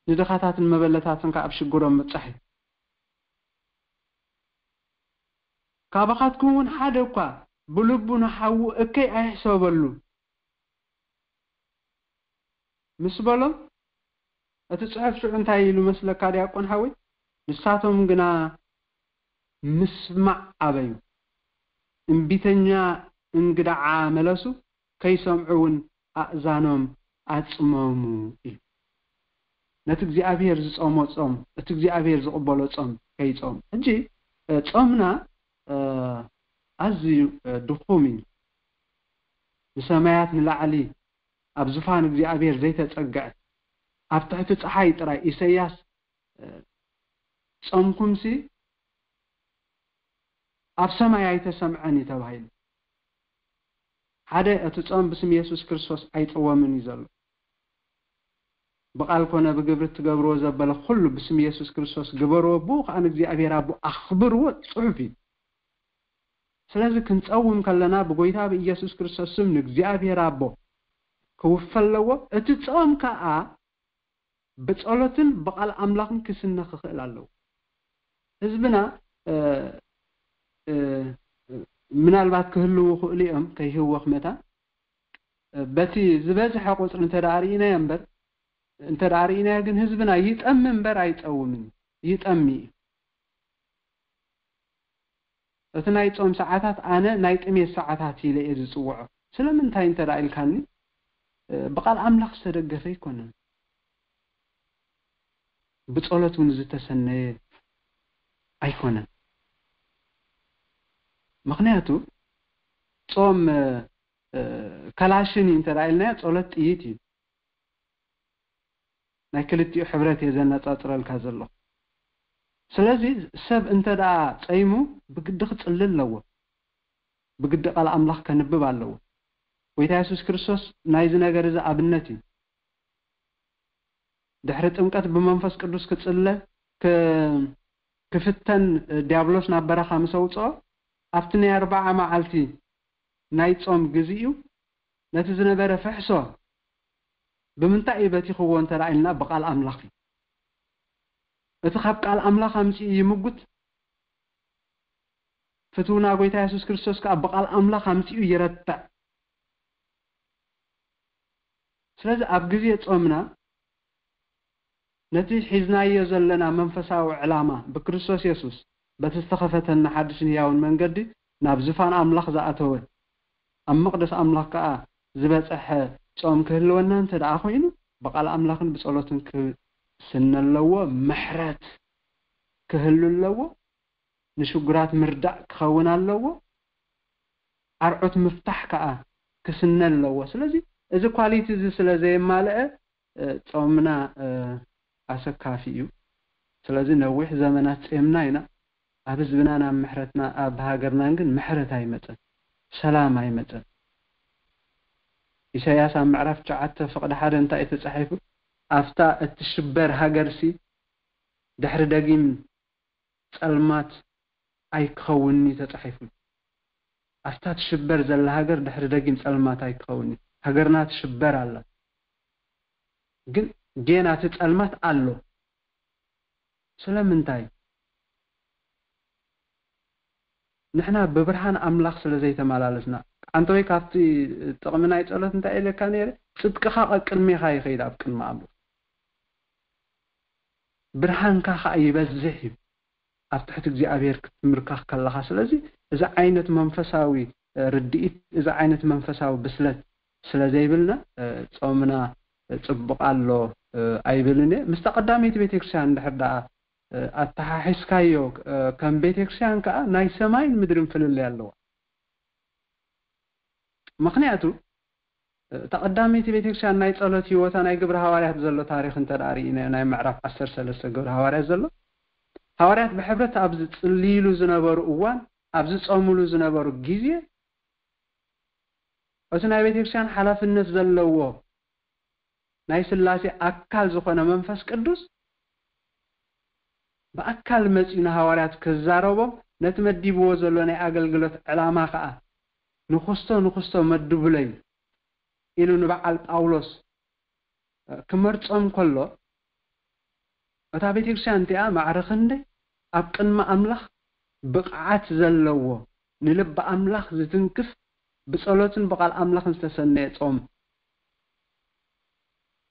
ንድኻታትን መበለታትን ከኣ ኣብ ሽግሮም ምብጻሕ እዩ። ካባኻትኩም እውን ሓደ እኳ ብልቡ ንሓዉ እከይ ኣይሕሰበሉ። ምስ በሎም፣ እቲ ጽሑፍ ሽዑ እንታይ ኢሉ መስለካ ዲያቆን ሓወይ? ንሳቶም ግና ምስማዕ ኣበዩ፣ እምቢተኛ እንግዳዓ መለሱ፣ ከይሰምዑ እውን ኣእዛኖም ኣጽመሙ እዩ። ነቲ እግዚኣብሔር ዝጾሞ ጾም፣ እቲ እግዚኣብሔር ዝቕበሎ ጾም ከይጾም። ሕጂ ጾምና ኣዝዩ ድኹም እዩ። ንሰማያት ንላዕሊ ኣብ ዙፋን እግዚኣብሔር ዘይተጸግዐ፣ ኣብ ትሕቲ ጸሓይ ጥራይ። ኢሳይያስ ጾምኩምሲ ኣብ ሰማይ ኣይተሰምዐን እዩ ተባሂሉ። ሓደ፣ እቲ ጾም ብስም የሱስ ክርስቶስ ኣይጸወምን እዩ ዘሎ። ብቓል ኮነ ብግብሪ እትገብርዎ ዘበለ ኩሉ ብስም የሱስ ክርስቶስ ግበርዎ፣ ብኡ ከኣ ንእግዚኣብሔር ኣቦ ኣኽብርዎ ጽሑፍ እዩ። ስለዚ ክንጸውም ከለና ብጎይታ ብኢየሱስ ክርስቶስ ስም ንእግዚኣብሔር ኣቦ ክውፈ ኣለዎ። እቲ ጾም ከኣ ብጸሎትን ብቓል ኣምላኽን ክስነ ክኽእል ኣለዎ። ህዝብና ምናልባት ክህልዉ ይኽእሉ እዮም ከይህወኽ መታን፣ በቲ ዝበዝሐ ቁፅሪ እንተ ደኣ ርኢናዮ እምበር፣ እንተ ደኣ ርኢናዮ ግን ህዝብና ይጠሚ እምበር ኣይፀውምን እዩ። ይጠሚ እዩ። እቲ ናይ ጾም ሰዓታት ኣነ ናይ ጥሜት ሰዓታት ኢለ እየ ዝጽውዖ። ስለምንታይ እንተ ደኣ ኢልካኒ፣ ብቓል ኣምላኽ ዝተደገፈ ኣይኮነን። ብጸሎት እውን ዝተሰነየ ኣይኮነን። ምኽንያቱ ጾም ከላሽን እዩ እንተ ኢልናዮ፣ ጸሎት ጥይት እዩ። ናይ ክልቲኡ ሕብረት እየ ዘነጻጽረልካ ዘለኹ። ስለዚ ሰብ እንተ ደኣ ጸይሙ ብግዲ ክጽሊ ኣለዎ። ብግዲ ቃል ኣምላኽ ከንብብ ኣለዎ። ጎይታ የሱስ ክርስቶስ ናይዚ ነገር እዚ ኣብነት እዩ። ድሕሪ ጥምቀት ብመንፈስ ቅዱስ ክጽለ ክፍተን ዲያብሎስ ናብ በረኻ ምስ ኣውፅኦ ኣብቲ ናይ ኣርባዓ መዓልቲ ናይ ጾም ግዜኡ ነቲ ዝነበረ ፍሕሶ ብምንታይ እዩ በቲኽዎ እንተ ኢልና ብቃል ኣምላኽ እዩ። እቲ ካብ ቃል ኣምላኽ ኣምፂኡ ይምጉት። ፍትውና ጎይታ የሱስ ክርስቶስ ከዓ ብቃል ኣምላኽ ኣምፂኡ ይረትዕ። ስለዚ ኣብ ግዜ ጾምና ነቲ ሒዝናዮ ዘለና መንፈሳዊ ዕላማ ብክርስቶስ የሱስ በቲ ዝተኸፈተና ሓድሽን ህያውን መንገዲ ናብ ዝፋን ኣምላኽ ዝኣተወ ኣብ መቕደስ ኣምላኽ ከኣ ዝበጽሐ ጾም ክህልወና እንተ ደኣ ኮይኑ ብቃል ኣምላኽን ብጸሎትን ክስነ ኣለዎ። ምሕረት ክህሉ ኣለዎ። ንሽጉራት ምርዳእ ክኸውን ኣለዎ። ኣርዑት ምፍታሕ ከኣ ክስነ ኣለዎ። ስለዚ እዚ ኳሊቲ እዚ ስለ ዘየማልአ ጾምና ኣሰካፊ እዩ። ስለዚ ነዊሕ ዘመናት ጼምና ኢና። ኣብ ህዝብናን ኣብ ምሕረትና ኣብ ሃገርናን ግን ምሕረት ኣይመጸን፣ ሰላም ኣይመጸን። ኢሳያስ ኣብ ምዕራፍ ትሽዓተ ፍቕዲ ሓደ እንታይ እዩ ተጻሒፉ? ኣብታ እትሽበር ሃገርሲ ድሕሪ ደጊም ጸልማት ኣይክኸውንኒ ተጻሒፉ። ኣብታ ትሽበር ዘላ ሃገር ድሕሪ ደጊም ጸልማት ኣይክኸውንኒ። ሃገርና ትሽበር ኣላ፣ ግን ጌና እቲ ጸልማት ኣሎ። ስለምንታይ? ንሕና ብብርሃን ኣምላኽ ስለ ዘይተመላለስና። ኣንተ ወይ ካብቲ ጥቕሚ ናይ ጸሎት እንታይ ኢለካ ነይረ? ጽድቅኻ ቀቅድሜኻ ይኸይድ ኣብ ቅድሚ ኣምላኽ። ብርሃንካ ኸዓ ይበዝሕ እዩ ኣብ ትሕቲ እግዚኣብሔር ክትምርካኽ ከለኻ። ስለዚ እዚ ዓይነት መንፈሳዊ ርድኢት፣ እዚ ዓይነት መንፈሳዊ ብስለት ስለ ዘይብልና ጾምና ጽቡቕ ኣሎ ኣይብልን እየ። ምስታ ቀዳመይቲ ቤተክርስትያን እንድሕር ደኣ ኣተሓሒዝካዮ ከም ቤተክርስትያን ከኣ ናይ ሰማይን ምድርን ፍልልይ ኣለዋ። ምኽንያቱ እታ ቀዳመይቲ ቤተክርስትያን ናይ ጸሎት ህይወታ ናይ ግብረ ሃዋርያት ዘሎ ታሪኽ እንተ ደኣ ርኢናዮ፣ ናይ ምዕራፍ ዓሰርተ ሰለስተ ግብረ ሃዋርያት ዘሎ፣ ሃዋርያት ብሕብረት ኣብ ዝጽልይሉ ዝነበሩ እዋን፣ ኣብ ዝጸምሉ ዝነበሩ ግዜ፣ እቲ ናይ ቤተክርስትያን ሓላፍነት ዘለዎ ናይ ስላሴ ኣካል ዝኾነ መንፈስ ቅዱስ ብኣካል መጺኡ ንሃዋርያት ክዛረቦም፣ ነቲ መዲብዎ ዘሎ ናይ ኣገልግሎት ዕላማ ከኣ ንኹስቶ ንኹስቶ መድቡለይ ኢሉ ንበዓል ጳውሎስ ክመርጾም ከሎ፣ እታ ቤተክርስትያን እቲኣ ማዕረ ክንደይ ኣብ ቅድሚ ኣምላኽ ብቕዓት ዘለዎ፣ ንልቢ ኣምላኽ ዝትንክፍ፣ ብጸሎትን ብቓል ኣምላኽን ዝተሰነየ ጾም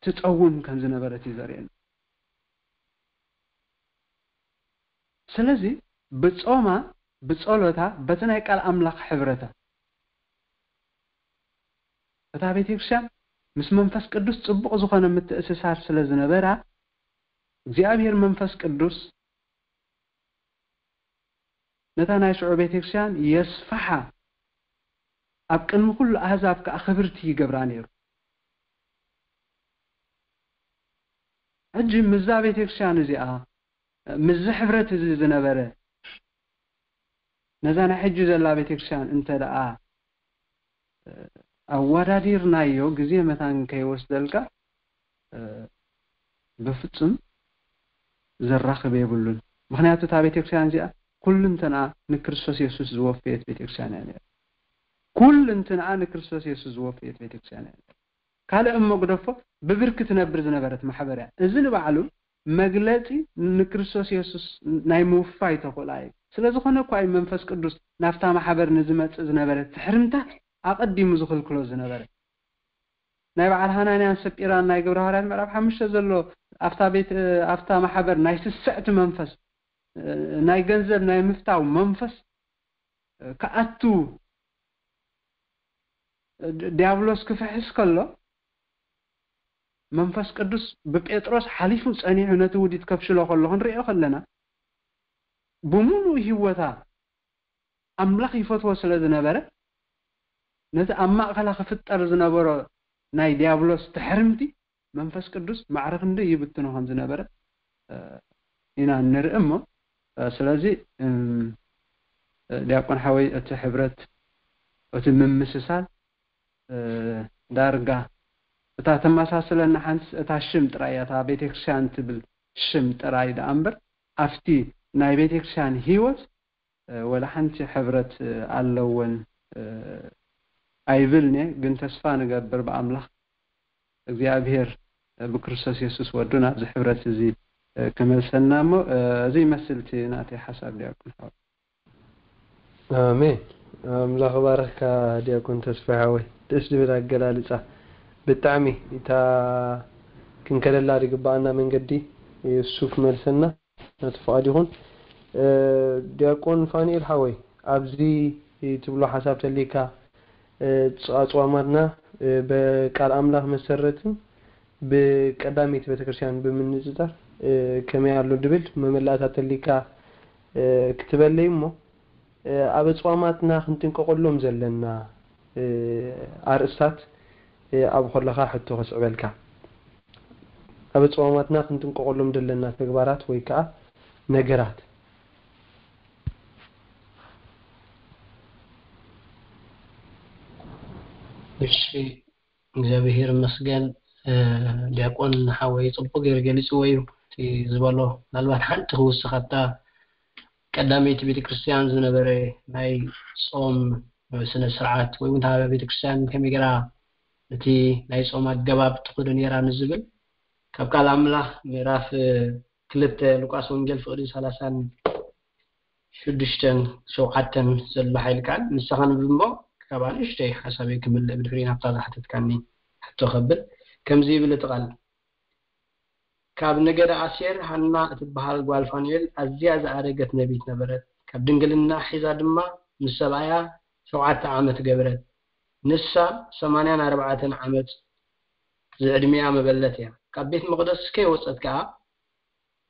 ትጸውም ከም ዝነበረት እዩ ዘርእየና። ስለዚ ብጾማ፣ ብጸሎታ፣ በቲ ናይ ቃል ኣምላኽ ሕብረታ፣ እታ ቤተክርስትያን ምስ መንፈስ ቅዱስ ጽቡቕ ዝኾነ ምትእስሳር ስለ ዝነበራ፣ እግዚኣብሔር መንፈስ ቅዱስ ነታ ናይ ሽዑ ቤተክርስትያን የስፍሓ፣ ኣብ ቅድሚ ኩሉ ኣህዛብ ከኣ ክብርቲ ይገብራ ነይሩ። ሕጂ ምስዛ ቤተክርስትያን እዚኣ፣ ምስዚ ሕብረት እዚ ዝነበረ፣ ነዛ ናይ ሕጂ ዘላ ቤተክርስትያን እንተ ደኣ ኣወዳዲርናዮ፣ ግዜ መታን ከይወስደልካ፣ ብፍጹም ዘራኽብ የብሉን። ምኽንያቱ እታ ቤተክርስትያን እዚኣ ኩልንትንኣ ንክርስቶስ የሱስ ዝወፈየት ቤተክርስትያን እያ ነይራ። ኩልንትንኣ ንክርስቶስ የሱስ ዝወፈየት ቤተክርስትያን እያ ነይራ። ካልእ እሞ ግደፎ፣ ብብርኪ ትነብር ዝነበረት ማሕበር እያ። እዚ ንባዕሉ መግለጺ ንክርስቶስ የሱስ ናይ ምውፋይ ተኽእላ እዩ። ስለ ዝኾነ እኳ እዩ መንፈስ ቅዱስ ናብታ ማሕበር ንዝመጽእ ዝነበረ ትሕርምታ ኣቐዲሙ ዝኽልክሎ ዝነበረ። ናይ በዓል ሃናንያን ሰጲራን ናይ ግብረ ሃዋርያት ምዕራፍ ሓሙሽተ ዘሎ፣ ኣብታ ቤት፣ ኣብታ ማሕበር ናይ ስስዕቲ መንፈስ፣ ናይ ገንዘብ ናይ ምፍታው መንፈስ ክኣቱ ድ-፣ ዲያብሎስ ክፍሕስ ከሎ፣ መንፈስ ቅዱስ ብጴጥሮስ ሓሊፉ ጸኒሑ ነቲ ውዲት ከፍሽሎ ከሎ ክንሪኦ ከለና፣ ብምሉእ ህይወታ ኣምላኽ ይፈትዎ ስለ ዝነበረ፣ ነቲ ኣብ ማእከላ ክፍጠር ዝነበሮ ናይ ዲያብሎስ ትሕርምቲ መንፈስ ቅዱስ ማዕረ ክንደይ ይብትኖ ከም ዝነበረ፣ እ፣ ኢና ንርኢ እሞ፣ እ፣ ስለዚ፣ እም፣ እ፣ ዲያቆን ሓወይ፣ እቲ ሕብረት፣ እቲ ምምስሳል፣ እ፣ ዳርጋ እታ ተመሳስለና ሓንትስ እታ ሽም ጥራይ እያ፣ እታ ቤተክርስትያን ትብል ሽም ጥራይ ደኣ እምበር፣ ኣብቲ ናይ ቤተክርስትያን ህይወት፣ እ፣ ወላ ሓንቲ ሕብረት፣ እ፣ ኣለወን፣ እ፣ ኣይብልን እየ። ግን ተስፋ ንገብር ብኣምላኽ እግዚኣብሔር፣ እ፣ ብክርስቶስ የሱስ ወዱ ናብዚ ሕብረት እዚ፣ እ፣ ክመልሰና እሞ፣ እ፣ እዚ ይመስል እቲ ናተይ ሓሳብ ዲያቆን ሓወይ። ኣሜን። ኣምላኽ ባረኽካ ዲያቆን ተስፋ ሓወይ። ደስ ዝብል ኣገላልጻ። ብጣዕሚ እታ ክንከደላ ዝግባኣና መንገዲ እሱ ክመልሰና ነቲ ፍቓድ ይኹን። እ፣ ዲያቆን ፋኑኤል ሓወይ፣ ኣብዚ ትብሎ ሓሳብ ተሊካ፣ እ፣ ኣጽዋማትና፣ እ፣ ብቃል ኣምላኽ መሰረትን ብቀዳመይቲ ቤተክርስትያን ብምንጽጻር፣ እ፣ ከመይ ኣሎ ድብል መመላእታ ተሊካ፣ እ፣ ክትበለይ እሞ፣ እ፣ ኣብ ኣጽዋማትና ክንጥንቀቐሎም ዘለና፣ እ፣ ኣርእስታት፣ እ፣ ኣብ ከለኻ ሕቶ ከስዕበልካ። ኣብ ኣጽዋማትና ክንጥንቀቐሎም ዘለና ተግባራት ወይ ከኣ ነገራት። እሺ፣ እግዚኣብሔር ይመስገን። እ፣ ዲያቆን ሓወይ ጽቡቕ ገይሩ ገሊጽዎ እዩ። እቲ ዝበሎ ምናልባት ሓንቲ ክውስኽ ኣብታ ቀዳመይቲ ቤተክርስትያን ዝነበረ ናይ ጾም ስነ ስርዓት ወይ እውን እታ ቤተክርስትያን ከመይ ገይራ እቲ ናይ ጾም ኣገባብ ትኸዶ ነይራ ንዝብል ካብ ቃል ኣምላኽ ምዕራፍ፣ እ፣ ክልተ ሉቃስ ወንጌል ፍቕዲ ሰላሳን ሽዱሽተን ሸውዓተን ዘሎ ሓይሊ ቃል ንስኻ ንብብ እሞ ካብ ኣንእሽተይ ሓሳበይ ክምልእ ብድሕሪ ናብታ ዝሓተትካኒ ሕቶ ከብል ከምዚ ይብል እቲ ቃል። ካብ ነገደ ኣሴር ሃና እትበሃል ጓል ፋኑኤል ኣዝያ ዝኣረገት ነቢት ነበረት። ካብ ድንግልና ሒዛ ድማ ምስ ሰብኣያ ሸውዓተ ዓመት ገበረት። ንሳ ሰማንያን ኣርባዕተን ዓመት ዝዕድሚኣ መበለት እያ። ካብ ቤት መቕደስ ከይወጸት ከኣ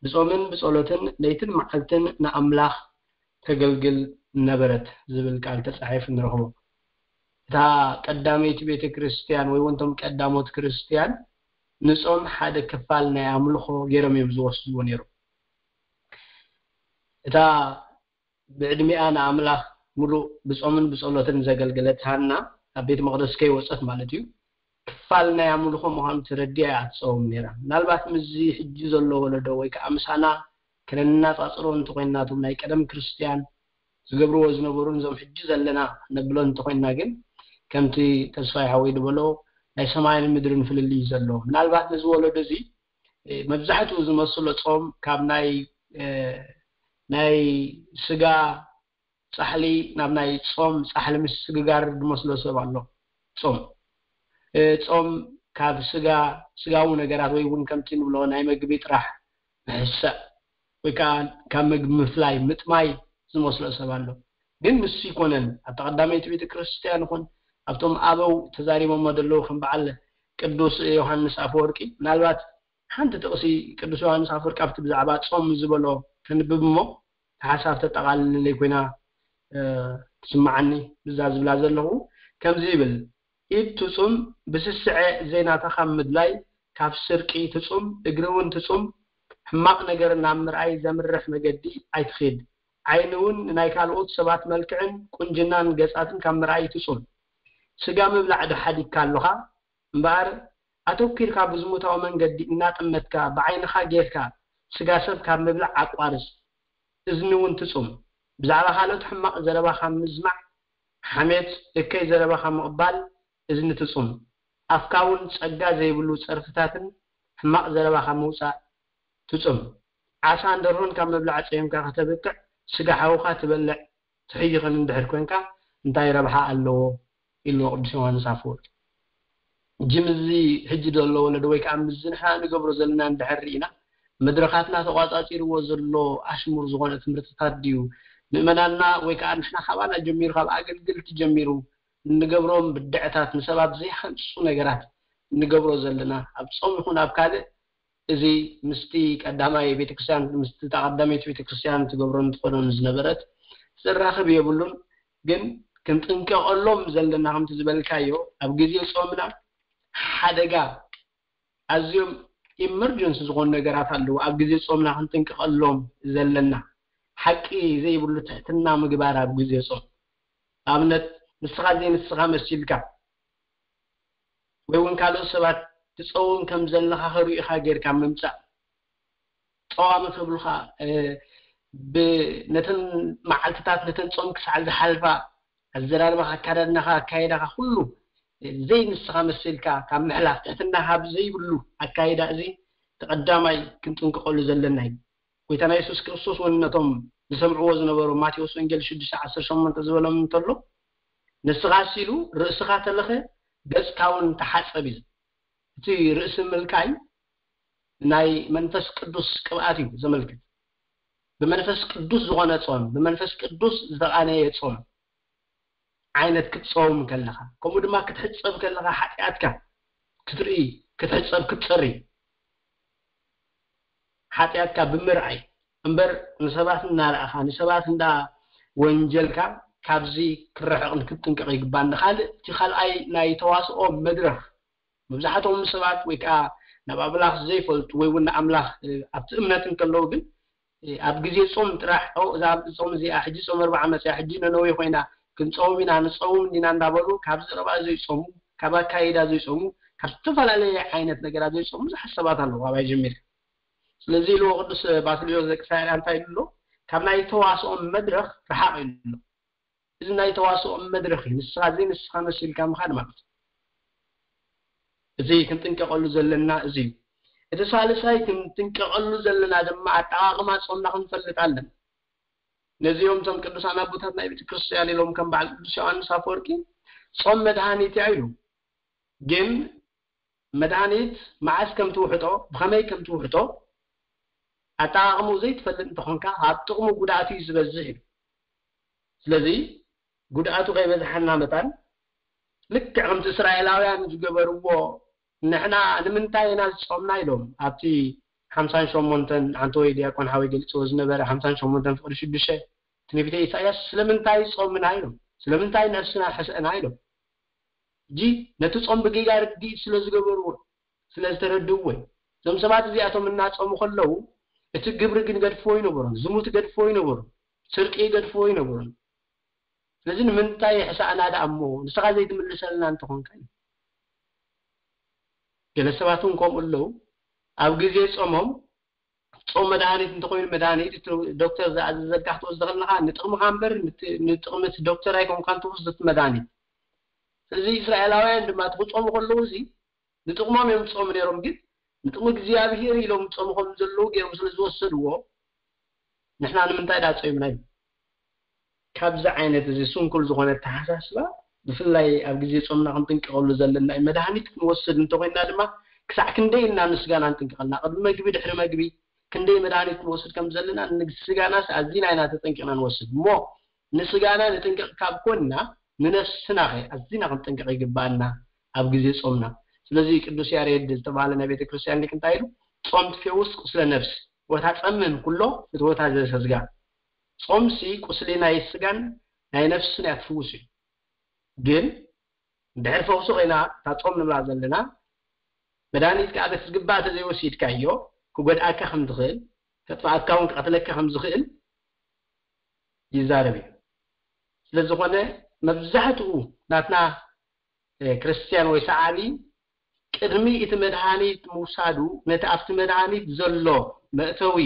ብጾምን ብጸሎትን ለይትን መዓልትን ንኣምላኽ ተገልግል ነበረት ዝብል ቃል ተጻሒፉ ንረኽቦ። እታ ቀዳመይቲ ቤተ ክርስቲያን ወይ እውን እቶም ቀዳሞት ክርስቲያን ንጾም ሓደ ክፋል ናይ ኣምልኾ ገይሮም እዮም ዝወስድዎ ነይሮም። እታ ብዕድሚኣ ንኣምላኽ ምሉእ ብጾምን ብጸሎትን ዘገልገለት ሃና ኣብ ቤት መቕደስ ከይወጸት ማለት እዩ፣ ክፋል ናይ ኣምልኾ ምዃኑ ተረዲኣ እያ ትጸውም ነይራ። ምናልባት ምስዚ ሕጂ ዘሎ ወለዶ ወይ ከኣ ምሳና ከነነጻጽሮ እንተኾይንና፣ እቶም ናይ ቀደም ክርስትያን ዝገብርዎ ዝነበሩን እዞም ሕጂ ዘለና ነብሎ እንተኾይንና ግን፣ ከምቲ ተስፋይ ሓወይ ዝበሎ ናይ ሰማይን ምድርን ፍልልይ እዩ ዘሎ። ምናልባት ነዚ ወለዶ እዚ፣ እ፣ መብዛሕትኡ ዝመስሎ ጾም ካብ ናይ፣ እ፣ ናይ ስጋ ጻሕሊ ናብ ናይ ጾም ጻሕሊ ምስግጋር ዝመስሎ ሰብ ኣሎ። ጾም፣ እ፣ ጾም ካብ ስጋ፣ ስጋዊ ነገራት ወይ እውን ከምቲ ንብሎ ናይ መግቢ ጥራሕ ምሕሳእ ወይ ከዓ ካብ መግቢ ምፍላይ ምጥማይ ዝመስሎ ሰብ ኣሎ። ግን ንሱ ይኮነን። ኣብታ ቀዳመይቲ ቤተ ክርስቲያን ይኹን ኣብቶም ኣበው ተዛሪቦሞ ዘለዉ ከም በዓል ቅዱስ ዮሃንስ ኣፈወርቂ፣ ምናልባት ሓንቲ ጥቕሲ ቅዱስ ዮሃንስ ኣፈወርቂ ኣብቲ ብዛዕባ ጾም ዝበሎ ከንብብ እሞ፣ ሓሳብ ተጠቓልለለይ ኮይና ትስምዓኒ ብዛ ዝብላ ዘለኹ። ከምዚ ይብል፣ ኢድ ትጹም፣ ብስስዐ ዘይናታ ካብ ምድላይ፣ ካብ ስርቂ ትጹም፣ እግሪ እውን ትጹም፣ ሕማቕ ነገር ናብ ምርኣይ ዘምርሕ መገዲ ኣይትኺድ። ዓይኒ እውን ንናይ ካልኦት ሰባት መልክዕን ቁንጅናን ገጻትን ካብ ምርኣይ ትጹም። ስጋ ምብላዕ ዶ ሓዲግካ ኣለኻ? እምበኣር ኣተኲርካ ብዝሙታዊ መንገዲ እናጠመትካ ብዓይንኻ ጌርካ ስጋ ሰብ ካብ ምብላዕ ኣቋርጽ። እዝኒ እውን ትጹም። ብዛዕባ ካልኦት ሕማቕ ዘረባ ካብ ምስማዕ፣ ሓሜት፣ እከይ ዘረባ ካብ ምቕባል እዝኒ ትጹም። ኣፍካ እውን ጸጋ ዘይብሉ ጸርፍታትን ሕማቕ ዘረባ ካብ ምውጻእ ትጹም። ዓሳን ደርሆን ካብ ምብላዕ ጸይምካ ከተብቅዕ፣ ስጋ ሓውኻ ትበልዕ ትሕይኽን እንድሕር ኮንካ እንታይ ረብሓ ኣለዎ? ኢልዎ ቅዱስ ዮሃንስ ኣፈወርቂ። ጅምዚ ሕጂ ዘሎ ወለዶ ወይ ከዓ ምዚ ንሕና ንገብሮ ዘለና እንድሕር ርኢና፣ መድረኻትና ተቋጻጺርዎ ዘሎ ኣሽሙር ዝኾነ ትምህርትታት ድዩ? ምእመናንና ወይ ከዓ ንሕና ካባና ጀሚሩ፣ ካብ ኣገልግልቲ ጀሚሩ እንገብሮም ብድዕታት፣ ንሰባት ዘይሃንጹ ነገራት እንገብሮ ዘለና፣ ኣብ ጾም ይኹን ኣብ ካልእ፣ እዚ ምስቲ ቀዳማይ ቤተክርስትያን፣ ምስቲ ቀዳመይቲ ቤተክርስትያን ትገብሮን ትኾኖን ዝነበረት ዘራኽብ የብሉን። ግን ክንጥንቀቐሎም ዘለና፣ ከምቲ ዝበልካዮ፣ ኣብ ግዜ ጾምና ሓደጋ፣ ኣዝዮም ኢመርጀንሲ ዝኾኑ ነገራት ኣለዉ። ኣብ ግዜ ጾምና ክንጥንቀቐሎም ዘለና፣ ሓቂ ዘይብሉ ትሕትና ምግባር ኣብ ግዜ ጾም። ኣብነት፣ ንስኻ ዘይንስኻ መሲልካ ወይ እውን ካልኦት ሰባት ትጸውም ከም ዘለኻ ከርእዩኻ ጌርካ ምምጻእ። ጸዋሚ ክብሉኻ፣ እ፣ ብ-፣ ነተን መዓልትታት፣ ነተን ጾም ክሳዕ ዝሓልፋ ኣዘራርባኻ፣ ኣካዳድናኻ፣ ኣካይዳኻ፣ ኩሉ ዘይንስኻ መሲልካ ካብ ምሕላፍ፣ ትሕትና ካብ ዘይብሉ ኣካይዳ፣ እዚ እቲ ቀዳማይ ክንጥንቀቐሉ ዘለና እዩ። ጎይታና የሱስ ክርስቶስ እውን ነቶም ዝሰምዕዎ ዝነበሩ፣ ማቴዎስ ወንጌል ሽዱሽተ ዓሰርተ ሸሞንተ ዝበሎም እንተሎ፣ ንስኻስ፣ ኢሉ፣ ርእስኻ ተለኸ፣ ገጽካ እውን ተሓጸብ እዩ። እቲ ርእሲ ምልካይ ናይ መንፈስ ቅዱስ ቅብኣት እዩ ዘመልክት። ብመንፈስ ቅዱስ ዝኾነ ጾም፣ ብመንፈስ ቅዱስ ዝተቓነየ ጾም፣ ዓይነት ክትጸውም ከለኻ፣ ከምኡ ድማ ክትሕጸብ ከለኻ፣ ሓጢኣትካ ክትርኢ፣ ክትሕጸብ፣ ክትጸሪ፣ ሓጢኣትካ ብምርኣይ እምበር፣ ንሰባት እናረኣኻ፣ ንሰባት እንዳ ወንጀልካ፣ ካብዚ ክረሕቕን ክትጥንቀቕ ይግባእ። ንኻልእ፣ እቲ ካልኣይ ናይ ተዋስኦ መድረኽ፣ መብዛሕትኦም ሰባት ወይ ከዓ ናብ ኣምላኽ ዘይፈልጡ ወይ እውን ንኣምላኽ፣ እ፣ ኣብቲ እምነት እንከለዉ ግን፣ እ፣ ኣብ ግዜ ጾም ጥራሕ፣ "ኦ፣ እዛ ጾም እዚኣ፣ ሕጂ ጾም ኣርብዓ መጽያ፣ ሕጂ ነነዌ ኮይና፣ ክንጸውም ኢና፣ ንጸውም እንዲና" እንዳበሉ፣ ካብ ዘረባ ዘይጾሙ፣ ካብ ኣካይዳ ዘይጾሙ፣ ካብ ዝተፈላለየ ዓይነት ነገራት ዘይጾሙ ብዙሓት ሰባት ኣለዉ፣ ካባይ ጀሚርካ። ስለዚ ኢልዎ ቅዱስ ባስልዮስ ዘቂሳርያ እንታይ ኢሉ ኣሎ? "ካብ ናይ ተዋስኦ መድረኽ ርሓቕ" ኢሉ ኣሎ። እዚ ናይ ተዋስኦ መድረኽ እዩ። ንስኻ ዘይንስኻ መሲልካ ምኻድ ማለት እዩ። እዚ ክንጥንቀቐሉ ዘለና እዚ እዩ። እቲ ሳልሳይ ክንጥንቀቐሉ ዘለና ድማ ኣጠቓቕማ ጾምና ክንፈልጥ ኣለና። ነዚኦም እቶም ቅዱሳን ኣቦታት ናይ ቤተ ክርስቲያን ኢሎም ከም በዓል ቅዱስ ዮሃንስ ኣፈወርቂ፣ "ጾም መድሃኒት እያ" ኢሉ። ግን መድሃኒት መዓስ ከም ትውሕጦ፣ ብኸመይ ከም ትውሕጦ፣ ኣጠቓቕምኡ ዘይትፈልጥ እንተኾንካ፣ ኣብ ጥቕሙ ጉድኣቱ እዩ ዝበዝሕ ኢሉ። ስለዚ ጉድኣቱ ከይበዝሓና መታን፣ ልክዕ ከምቲ እስራኤላውያን ዝገበርዎ፣ "ንሕና ንምንታይ ኢና ዝጾምና?" ኢሎም ኣብቲ ሓምሳን ሸሞንተን፣ ኣንተ ወይ ዲያቆን ሓወይ ገሊጽዎ ዝነበረ ሓምሳን ሸሞንተን ፍቕዲ ሽዱሽተ ትንቢተ ኢሳያስ፣ "ስለምንታይ ጾምና?" ኢሎም፣ "ስለምንታይ ነፍስና ሕሰእና?" ኢሎም። ሕጂ ነቲ ጾም ብጌጋ ርድኢት ስለ ዝገበርዎ፣ ስለ ዝተረድእዎ እዩ። እዞም ሰባት እዚኣቶም እናጾሙ ከለዉ፣ እቲ ግብሪ ግን ገድፍዎ ይነበሮም፣ ዝሙት ገድፍዎ ይነበሮም፣ ስርቂ ገድፍዎ ይነበሮም። ስለዚ ንምንታይ ሕሳእና ደኣ እሞ ንስኻ ዘይትምልሰልና እንተኾንካ እዩ። ገለ ሰባት እውን ከምኡ ኣለዉ። ኣብ ግዜ ጾሞም፣ ጾም መድሃኒት እንተኾይኑ መድሃኒት፣ እቲ ዶክተር ዝኣዘዘልካ ክትወስዶ ከለኻ ንጥቕምኻ እምበር ንት-፣ ንጥቕሚ እቲ ዶክተር ኣይኮንካን ትወስዶ እቲ መድሃኒት። ስለዚ እስራኤላውያን ድማ እቲ ክጾሙ ከለዉ እዚ ንጥቕሞም እዮም ዝጾሙ ነይሮም፣ ግን ንጥቕሚ እግዚኣብሄር ኢሎም ጾሙ ከም ዘለዉ ገይሮም ስለ ዝወሰድዎ፣ ንሕና ንምንታይ ደኣ ጾምና እዩ? ካብዚ ዓይነት እዚ ስንኩል ዝኾነ ኣተሓሳስባ ብፍላይ ኣብ ግዜ ጾምና ክንጥንቀቐሉ ዘለና እዩ። መድሃኒት ክንወስድ እንተኾይንና ድማ ክሳዕ ክንደይ ኢና ንስጋና ንጥንቀቐልና? ቅድሚ መግቢ፣ ድሕሪ መግቢ ክንደይ መድሃኒት ክንወስድ ከም ዘለና፣ ንስጋናስ ኣዚና ኢና ተጠንቂቕና ንወስድ። እሞ ንስጋና ንጥንቀቕ ካብ ኮንና፣ ንነፍስና ኸ ኣዚና ክንጥንቀቕ ይግብኣና ኣብ ግዜ ጾምና። ስለዚ ቅዱስ ያሬድ ዝተባህለ ናይ ቤተ ክርስቲያን ሊቅ እንታይ ኢሉ? "ጾም ትፌውስ ቁስለ ነፍስ ወታጸምም ኩሎ ፍትወታ ዘሰስጋ።" ጾምሲ ቁስሊ ናይ ስጋን ናይ ነፍስን እያ ትፍውስ እዩ። ግን ድሕሪ ፈውሲ ኮይና እታ ጾም ንብላ ዘለና መድሃኒት ከኣ በቲ ዝግባእ ተዘይወሲድካዮ ክጎድኣካ ከም ዝኽእል፣ ከጥፍኣካ እውን ክቐትለካ ከም ዝኽእል ይዛረብ እዩ። ስለ ዝኾነ መብዛሕትኡ ናትና፣ እ፣ ክርስትያን ወይ ሰዓቢ ቅድሚ እቲ መድሃኒት ምውሳዱ ነቲ ኣብቲ መድሃኒት ዘሎ መእተዊ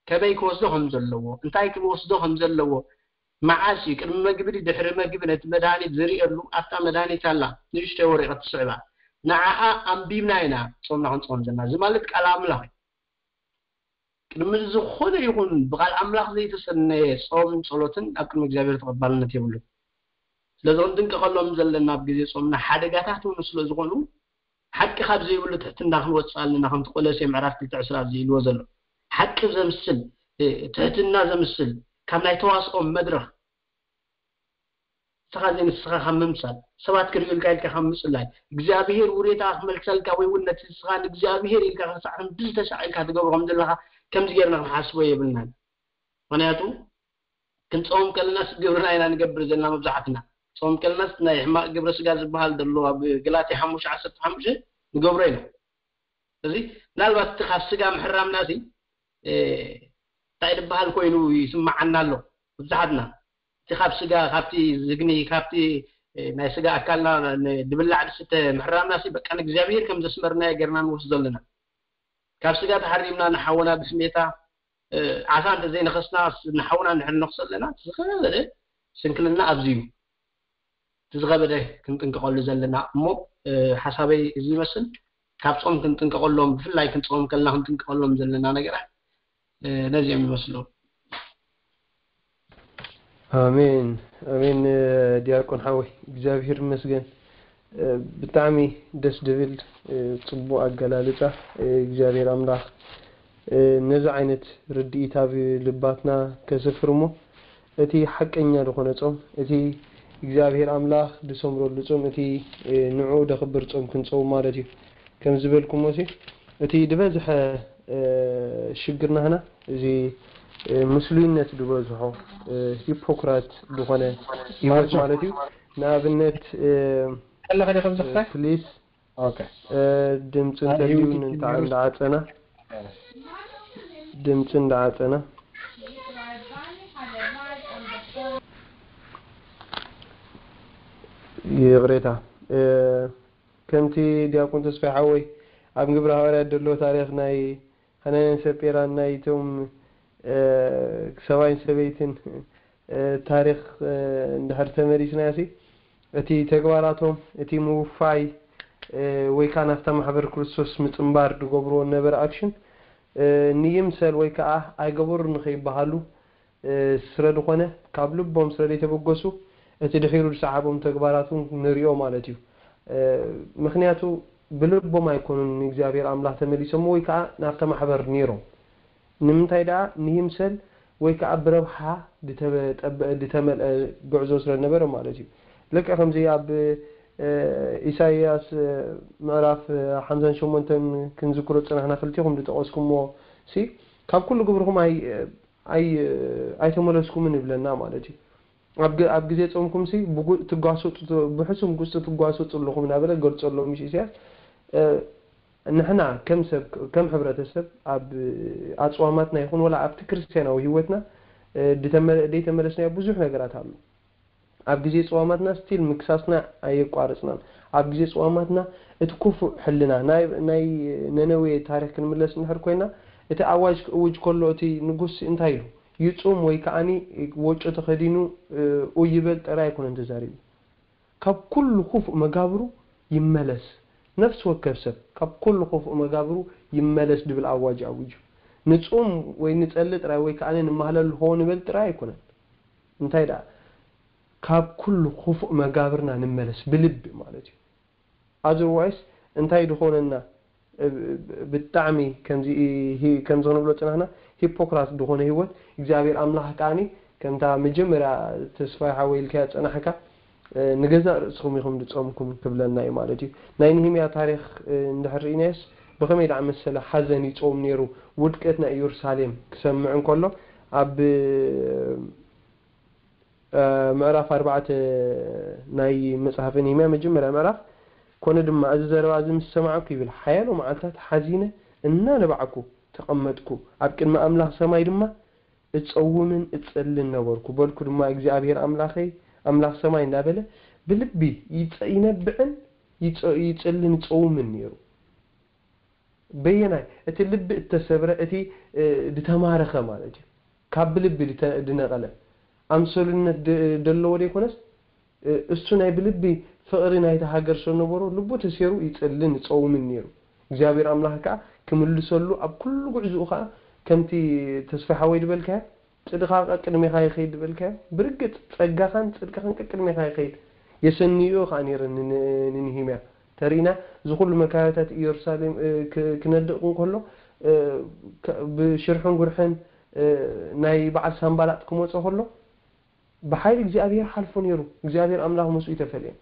ከመይ ክወስዶ ከም ዘለዎ፣ እንታይ ክወስዶ ከም ዘለዎ፣ መዓስ እዩ ቅድሚ መግቢ ድዩ ድሕሪ መግቢ ነቲ መድሃኒት ዝርእየሉ ኣብታ መድሃኒት ኣላ ንእሽተይ ወረቐት ትስዕባ። ንዓኣ ኣንቢብና ኢና ጾምና ክንጾም ዘለና። እዚ ማለት ቃል ኣምላኽ እዩ። ቅድሚ ዝኾነ ይኹን ብቓል ኣምላኽ ዘይተሰነየ ጾምን ጸሎትን ኣብ ቅድሚ እግዚኣብሔር ተቐባልነት የብሉን። ስለዚ ክንጥንቀቐሎም ዘለና ኣብ ግዜ ጾምና ሓደጋታት እውን ስለ ዝኾኑ ሓቂ ካብ ዘይብሉ ትሕትና ክንወጽእ ኣለና። ከምቲ ቆሎሴ ምዕራፍ ክልተ ዕስራ ኣብዚ ኢልዎ ዘሎ ሓቂ ዘምስል፣ እ፣ ትሕትና ዘምስል ካብ ናይ ተዋስኦ መድረኽ ንስኻ ዘይንስኻ ካብ ምምሳል፣ ሰባት ክርእዩልካ ኢልካ ካብ ምጽላይ፣ እግዚኣብሄር ውሬታ ክመልሰልካ ወይ እውን ነቲ ንስኻ ንእግዚኣብሄር ኢልካ ክሳዕ ክንዲ ዝተሻዕልካ ትገብሮ ከም ዘለኻ ከምዚ ጌርና ክንሓስቦ የብልናን። ምኽንያቱ ክንጾም ከለናስ ግብርና ኢና ንገብር ዘለና መብዛሕትና። ጾም ከለናስ ናይ ሕማቕ ግብረ ስጋ ዝበሃል ዘሎ ኣብ ገላትያ ሓሙሽተ ዓሰርተ ሓሙሽተ ንገብሮ ኢና። እዚ ምናልባት እቲ ካብ ስጋ ምሕራምና ሲ፣ እ፣ እንታይ ዝበሃል ኮይኑ ይስምዓና ኣሎ መብዛሕትና። እቲ ካብ ስጋ፣ ካብቲ ዝግኒ፣ ካብቲ፣ እ፣ ናይ ስጋ ኣካልና ን-፣ ድብላዕ ድስተ ምሕራምና ሲ በቃ ንእግዚኣብሄር ከም ዘስመርናዮ ጌርና ንወስዶ ኣለና። ካብ ስጋ ተሓሪምና ንሓወና ብስሜታ፣ እ፣ ዓሳ እንተዘይነኸስና ስ-፣ ንሓውና እንድሕር ንነኽሶ ኣለና፣ እቲ ዝኸበደ ስንክልና ኣብዚ እዩ። እቲ ዝኸበደ ክንጥንቀቐሉ ዘለና እሞ፣ እ፣ ሓሳበይ እዚ ይመስል። ካብ ጾም ክንጥንቀቐሎም፣ ብፍላይ ክንጾም ከለና ክንጥንቀቐሎም ዘለና ነገራት፣ እ፣ ነዚኦም ይመስሉ። ኣሜን፣ ኣሜን። ዲያቆን ሓወይ፣ እግዚኣብሔር ይመስገን። ብጣዕሚ ደስ ድብል፣ ጽቡቕ ኣገላልጻ። እግዚኣብሔር ኣምላኽ ነዚ ዓይነት ርድኢት ኣብ ልባትና ከስፍር እሞ፣ እቲ ሓቀኛ ዝኾነ ጾም፣ እቲ እግዚኣብሔር ኣምላኽ ዝሰምረሉ ጾም፣ እቲ ንዕኡ ደኽብር ጾም ክንጸውም ማለት እዩ። ከም ዝበልኩሞ ሲ፣ እቲ ዝበዝሐ ሽግር ናህና፣ እዚ ምስሉይነት ዝበዝሖ፣ ሂፖክራት ዝኾነ ህይወት ማለት እዩ። ንኣብነት፣ ከለኸ ዲኹም ዝኽፈ? ፕሊስ፣ ኦኬ። ድምፂ እንተልዩ እንተዓፀና፣ ድምፂ እንዳዓፀና። ይቕሬታ። ከምቲ ዲያቆን ተስፋይ ሓወይ ኣብ ግብረ ሃዋርያት ዘሎ ታሪኽ ናይ ሃናንያን ሰጲራን ናይቶም ሰብኣይን ሰበይትን ታሪኽ እንድሕር ተመሊስናዮ ሲ፣ እቲ ተግባራቶም፣ እቲ ምውፋይ ወይ ከዓ ናብታ ማሕበር ክርስቶስ ምፅምባር ዝገብርዎ ነበረ ኣክሽን ንይምሰል ወይ ከዓ ኣይገበሩን ንኸይበሃሉ ስለ ዝኾነ፣ ካብ ልቦም ስለ ዘይተበገሱ፣ እቲ ድሒሩ ዝሰዓቦም ተግባራት እውን ንሪኦ ማለት እዩ። ምኽንያቱ ብልቦም ኣይኮኑን ንእግዚኣብሔር ኣምላኽ ተመሊሶም ወይ ከዓ ናብታ ማሕበር ነይሮም። ንምንታይ ደኣ ንይምሰል ወይ ከዓ ብረብሓ ዝተጠበ-፣ ዝተመልአ ጉዕዞ ስለ ነበረ ማለት እዩ። ልክዕ ከምዚ ኣብ ኢሳይያስ ምዕራፍ ሓምሳን ሸሞንተን ክንዝክሮ ዝጸናሕና ክልቲኹም ዝጠቐስኩምዎ ሲ፣ ካብ ኩሉ ግብርኹም ኣይ-፣ ኣይ-፣ ኣይተመለስኩምን ይብለና ማለት እዩ። ኣብ ግ-፣ ኣብ ግዜ ጾምኩም ሲ ብጉ-፣ ትጓሰጡ፣ ብሕሱም ጉስጢ ትጓሰጡ ኣለኹም እናበለ ገልጸሎም እዩ ኢሳያስ። እ፣ ንሕና ከም ሰብ፣ ከም ሕብረተሰብ ኣብ ኣጽዋማትና ይኹን ወላ ኣብቲ ክርስትያናዊ ህይወትና፣ እ፣ ድተመ-፣ ደይተመለስናዮ ብዙሕ ነገራት ኣሎ። ኣብ ግዜ ጽዋማትና ስቲል ምክሳስና ኣየቋረጽናን። ኣብ ግዜ ጽዋማትና እቲ ክፉእ ሕልና፣ ናይ፣ ናይ ነነዌ ታሪኽ ክንምለስ እንድሕር ኮይና፣ እቲ ኣዋጅ ክእውጅ ከሎ እቲ ንጉስ እንታይ ኢሉ? ይጹም ወይ ከዓኒ ወጮ ተኸዲኑ፣ እ፣ ኡይ ይበል ጥራይ ኣይኮነን ተዛሪቡ። ካብ ኩሉ ክፉእ መጋብሩ ይመለስ። ነፍሲ ወከፍ ሰብ ካብ ኩሉ ክፉእ መጋብሩ ይመለስ ድብል ኣዋጅ ኣዊጁ። ንጹም ወይ ንጸሊ ጥራይ ወይ ከዓኒ ንማህለል ሆ ንበል ጥራይ ኣይኮነን። እንታይ ደኣ? ካብ ኩሉ ክፉእ መጋብርና ንመለስ ብልቢ ማለት እዩ። ኣዘርዋይስ እንታይ ድኾነና? እ፣ ብ-፣ ብጣዕሚ ከምዚ ሂ-፣ ከምዚ ክንብሎ ጽናሕና ሂፖክራት ድኾነ ህይወት እግዚኣብሔር ኣምላኽ ከኣኒ ከምታ መጀመርያ ተስፋይ ሓወይ ኢልካያ ጸናሕካ፣ እ፣ ንገዛእ ርእስኹም ኢኹም ድጾምኩም ክብለና እዩ ማለት እዩ። ናይ ንህምያ ታሪኽ፣ እ፣ እንድሕር ርኢናዮስ ብኸመይ ደኣ መሰለ ሓዘን ይጾም ነይሩ። ውድቀት ናይ ኢየሩሳሌም ክሰምዕ እንከሎ ኣብ፣ እ፣ ምዕራፍ ኣርባዕተ ናይ መጽሓፈ ነህምያ መጀመርያ ምዕራፍ፣ ኮነ ድማ እዚ ዘረባ እዚ ምስ ሰማዕኩ ይብል፣ ሓያሎ መዓልታት ሓዚነ እናነባዕኩ ተቐመጥኩ፣ ኣብ ቅድሚ ኣምላኽ ሰማይ ድማ እጸውምን እጸልን ነበርኩ። በልኩ ድማ፣ እግዚኣብሔር ኣምላኸይ፣ ኣምላኽ ሰማይ እንዳበለ ብልቢ ይጸ-፣ ይነብዕን ይጸ-፣ ይጸልን ይጸውምን ነይሩ። በየናይ? እቲ ልቢ እተሰብረ፣ እቲ፣ እ፣ ድተማረኸ ማለት እዩ። ካብ ብልቢ ድተ-፣ ድነቐለ። ኣምሰሉነት ድ-፣ ደለዎ ደይኮነስ፣ እ፣ እሱ ናይ ብልቢ ፍቕሪ ናይቲ ሃገር ሰነበሮ ልቡ ተሴሩ ይጽልን ይጸውምን ነይሩ። እግዚኣብሔር ኣምላኽ ከኣ ክምልሰሉ ኣብ ኩሉ ጉዕዝኡ ከኣ ከምቲ ተስፋ ሓወይ ድበልካዮ ጽድቕኻ ቀቅድሜኻ ይኸይድ ዝበልካዮ፣ ብርግጽ ጸጋኻን ጽድቅኻን ቀቅድሜኻ ይኸይድ። የሰንዮ ከኣ ነይረ ን-፣ ን-፣ ንንህምያ። ተሪእና፣ እዚ ኩሉ መካዮታት ኢየሩሳሌም፣ እ፣ ክ-፣ ክነድቕ እንከሎ፣ እ፣ ከ-፣ ብሽርሕን ጉርሕን፣ እ፣ ናይ በዓል ሳምባላጥ ክመጾ ከሎ፣ ብሓይሊ እግዚኣብሔር ሓልፎ ነይሩ። እግዚኣብሔር ኣምላኽ ምስኡ ይተፈልየን።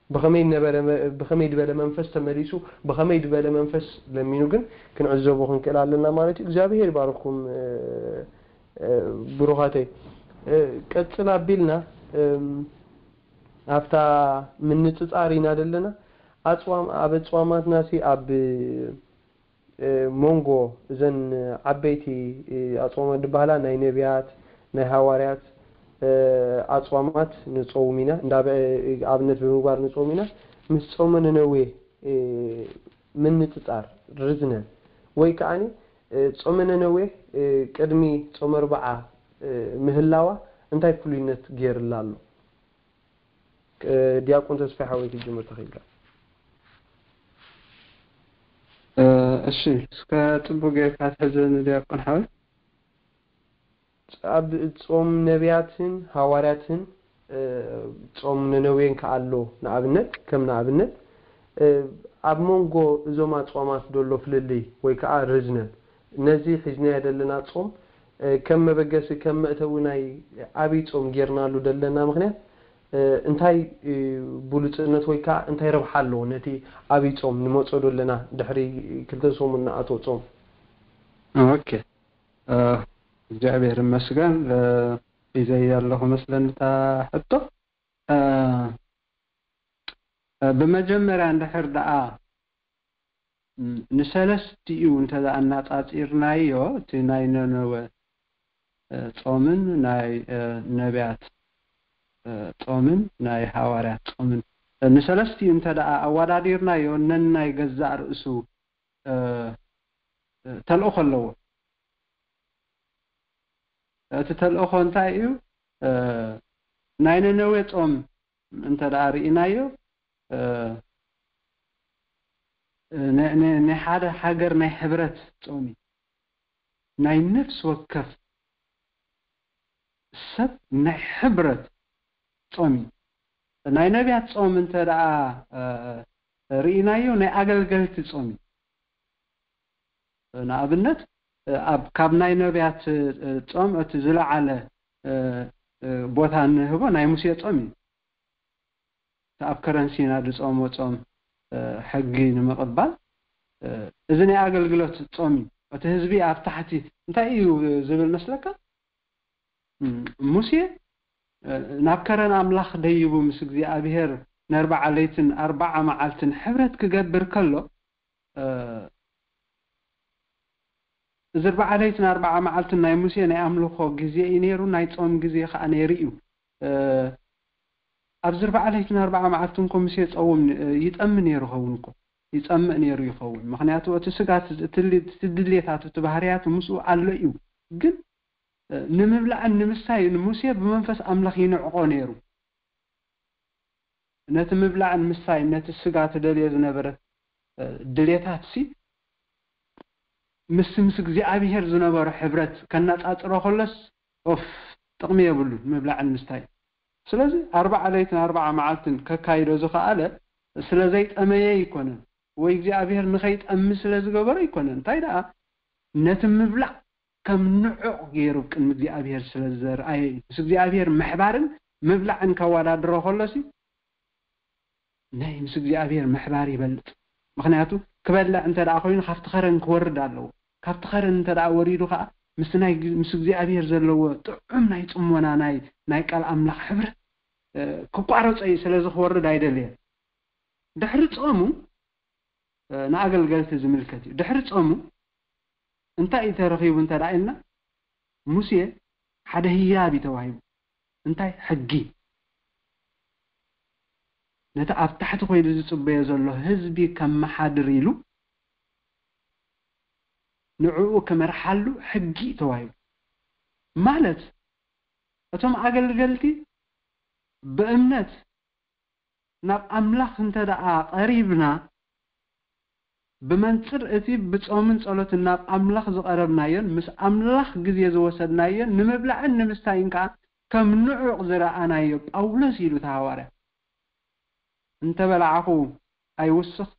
ብኸመይ ነበረ መ-፣ ብኸመይ ዝበለ መንፈስ ተመሊሱ፣ ብኸመይ ዝበለ መንፈስ ለሚኑ ግን ክንዕዘቦ ክንክእል ኣለና ማለት እዩ። እግዚኣብሔር ይባርኩም፣ እ፣ እ፣ ብሩኻተይ። እ፣ ቀጽል ኣቢልና፣ እም፣ ኣብታ ምንጽጻር ኢና ዘለና። ኣጽዋም-፣ ኣብ ኣጽዋማትናሲ ኣብ እ፣ መንጎ እዘን ዓበይቲ፣ እ፣ ኣጽዋማት ዝበሃላ ናይ ነቢያት፣ ናይ ሃዋርያት፣ እ፣ ኣጽዋማት ንጸውም ኢና። እንዳ በ-፣ እ፣ ኣብነት ብምግባር ንጸውም ኢና። ምስ ጾመ ነነዌ፣ እ፣ ምንጽጻር ርዝነን ወይ ከኣኒ፣ እ፣ ጾመ ነነዌ፣ እ፣ ቅድሚ ጾመ ኣርብዓ፣ እ፣ ምህላዋ እንታይ ፍሉይነት ገይርላ ኣሎ? እ፣ ዲያቆን ተስፋይ ሓወይ ክትጅምር ተኽኢልካ። እ፣ እሺ፣ እስከ ጽቡቅ ጌርካ ትሕዘኒ ዲያቆን ሓወይ። ኣብ ጾም ነቢያትን ሃዋርያትን፣ እ፣ ጾም ነነዌን ከኣ ኣሎ። ንኣብነት፣ ከም ንኣብነት፣ እ፣ ኣብ መንጎ እዞም ኣጽዋማት ዘሎ ፍልልይ ወይ ከኣ ርዝነት፣ ነዚ ሒዝናዮ ዘለና ጾም፣ እ፣ ከም መበገሲ፣ ከም መእተዊ ናይ ኣብይ ጾም ጌርናሉ ዘለና ምኽንያት፣ እ፣ እንታይ፣ እ፣ ብሉጽነት ወይ ከኣ እንታይ ረብሓ ኣለዎ ነቲ ኣብይ ጾም ንመጾ ዶ ኣለና ድሕሪ ክልተ ሰሙን ንኣትዎ ጾም? ኦኬ። እ፣ እግዚኣብሔር ይመስገን። እ፣ ሒዘያ ኣለኹ መስለኒ እታ ሕቶ። እ፣ እ፣ ብመጀመርያ እንድሕር ደኣ፣ ም፣ ንሰለስቲኡ እንተ ደኣ ኣነጻጺርናዮ፣ እቲ ናይ ነነወ፣ እ፣ ጾምን ናይ፣ እ፣ ነቢያት፣ እ፣ ጾምን ናይ ሃዋርያት ጾምን፣ እ፣ ንሰለስቲኡ እንተ ደኣ ኣወዳዲርናዮ፣ ነናይ ገዛእ ርእሱ፣ እ፣ እ፣ ተልእኾ ኣለዎ። እቲ ተልእኾ እንታይ እዩ? እ፣ ናይ ነነዌ ጾም እንተ ደኣ ርኢናዮ፣ እ፣ ን-፣ ን-፣ ናይ ሓደ ሃገር ናይ ሕብረት ጾም እዩ። ናይ ነፍሲ ወከፍ ሰብ ናይ ሕብረት ጾም እዩ። ናይ ነቢያት ጾም እንተ ደኣ፣ እ፣ ርኢናዮ፣ ናይ ኣገልገልቲ ጾም እዩ። ንኣብነት፣ ኣብ፣ ካብ ናይ ነቢያት፣ እ፣ ጾም እቲ ዝለዓለ፣ እ፣ እ፣ ቦታ እንህቦ ናይ ሙሴ ጾም እዩ። እቲ ኣብ ከረን ሲና ዝጾሞ ጾም፣ እ፣ ሕጊ ንምቕባል፣ እ፣ እዚ ናይ ኣገልግሎት ጾም እዩ። እቲ ህዝቢ ኣብ ታሕቲ እንታይ እዩ ዝብል መስለካ? እም፣ ሙሴ፣ እ፣ ናብ ከረን ኣምላኽ ደይቡ ምስ እግዚኣብሔር ንኣርብዓ ለይትን ኣርብዓ መዓልትን ሕብረት ክገብር ከሎ፣ እ፣ እዚ ኣርብዓ ለይትን ኣርብዓ መዓልትን ናይ ሙሴ ናይ ኣምልኾ ግዜ እዩ ነይሩ፣ ናይ ጾም ግዜ ኸኣ ነይሩ እዩ። እ፣ ኣብዚ ኣርብዓ ለይትን ኣርብዓ መዓልትን እኮ ሙሴ ጸውም ን-፣ እ፣ ይጠሚ ነይሩ ኸውን እኮ። ይጸምእ ነይሩ ይኸውን። ምኽንያቱ እቲ ስጋ፣ እቲ፣ እቲ ድሌታቱ፣ እቲ ባህርያቱ ምስኡ ኣሎ እዩ። ግን፣ እ፣ ንምብላዕን ንምስታይን ሙሴ ብመንፈስ ኣምላኽ ይንዕቆ ነይሩ። ነቲ ምብላዕን ምስታይን፣ ነቲ ስጋ ትደልዮ ዝነበረት፣ እ፣ ድሌታትሲ፣ ምስ፣ ምስ እግዚኣብሄር ዝነበሮ ሕብረት ከነጻጽሮ ከሎስ፣ ኦፍ፣ ጥቕሚ የብሉን ምብላዕን ምስታይ። ስለዚ ኣርባዓ ለይትን ኣርባዓ መዓልትን ከካይዶ ዝኸኣለ ስለ ዘይጠመየ ኣይኮነን፣ ወይ እግዚኣብሔር ንኸይጠሚ ስለ ዝገበሮ ኣይኮነን። እንታይ ደኣ ነቲ ምብላዕ ከም ንዑቕ ገይሩ ቅድሚ እግዚኣብሔር ስለ ዝዘርኣየ እዩ። ምስ እግዚኣብሔር ምሕባርን ምብላዕን ከወዳድሮ ከሎሲ ናይ ምስ እግዚኣብሔር ምሕባር ይበልጥ። ምኽንያቱ ክበልዕ እንተ ደኣ ኮይኑ ካብቲ ኸረን ክወርድ ኣለዎ። ካብቲ ኸረን እንተ ደኣ ወሪዱ ኸዓ ምስ ናይ ምስ እግዚኣብሔር ዘለዎ ጥዑም ናይ ጽሞና ናይ ናይ ቃል ኣምላኽ ሕብረት ክቋረጾ እዩ። ስለዚ ክወርድ ኣይደለየን። ድሕሪ ጾሙ ንኣገልገልቲ ዝምልከት እዩ። ድሕሪ ጾሙ እንታይ እዩ ተረኺቡ እንተ ደኣ ኢልና፣ ሙሴ ሓደ ህያብ እዩ ተዋሂቡ። እንታይ? ሕጊ። ነቲ ኣብ ታሕቲ ኮይኑ ዝጽበዮ ዘሎ ህዝቢ ከመሓድር ኢሉ ንዕኡ ክመርሓሉ ሕጊ እዩ ተዋሂቡ። ማለት እቶም ኣገልገልቲ ብእምነት ናብ ኣምላኽ እንተ ደኣ ቀሪብና፣ ብመንጽር እቲ ብጾምን ጸሎትን ናብ ኣምላኽ ዝቐረብናዮን ምስ ኣምላኽ ግዜ ዝወሰድናዮን ንምብላዕን ንምስታይን ከኣ ከም ንዑቕ ዝረኣናዮ ጳውሎስ ኢሉ እቲ ሃዋርያ። እንተ በላዕኹ ኣይውስኽ፣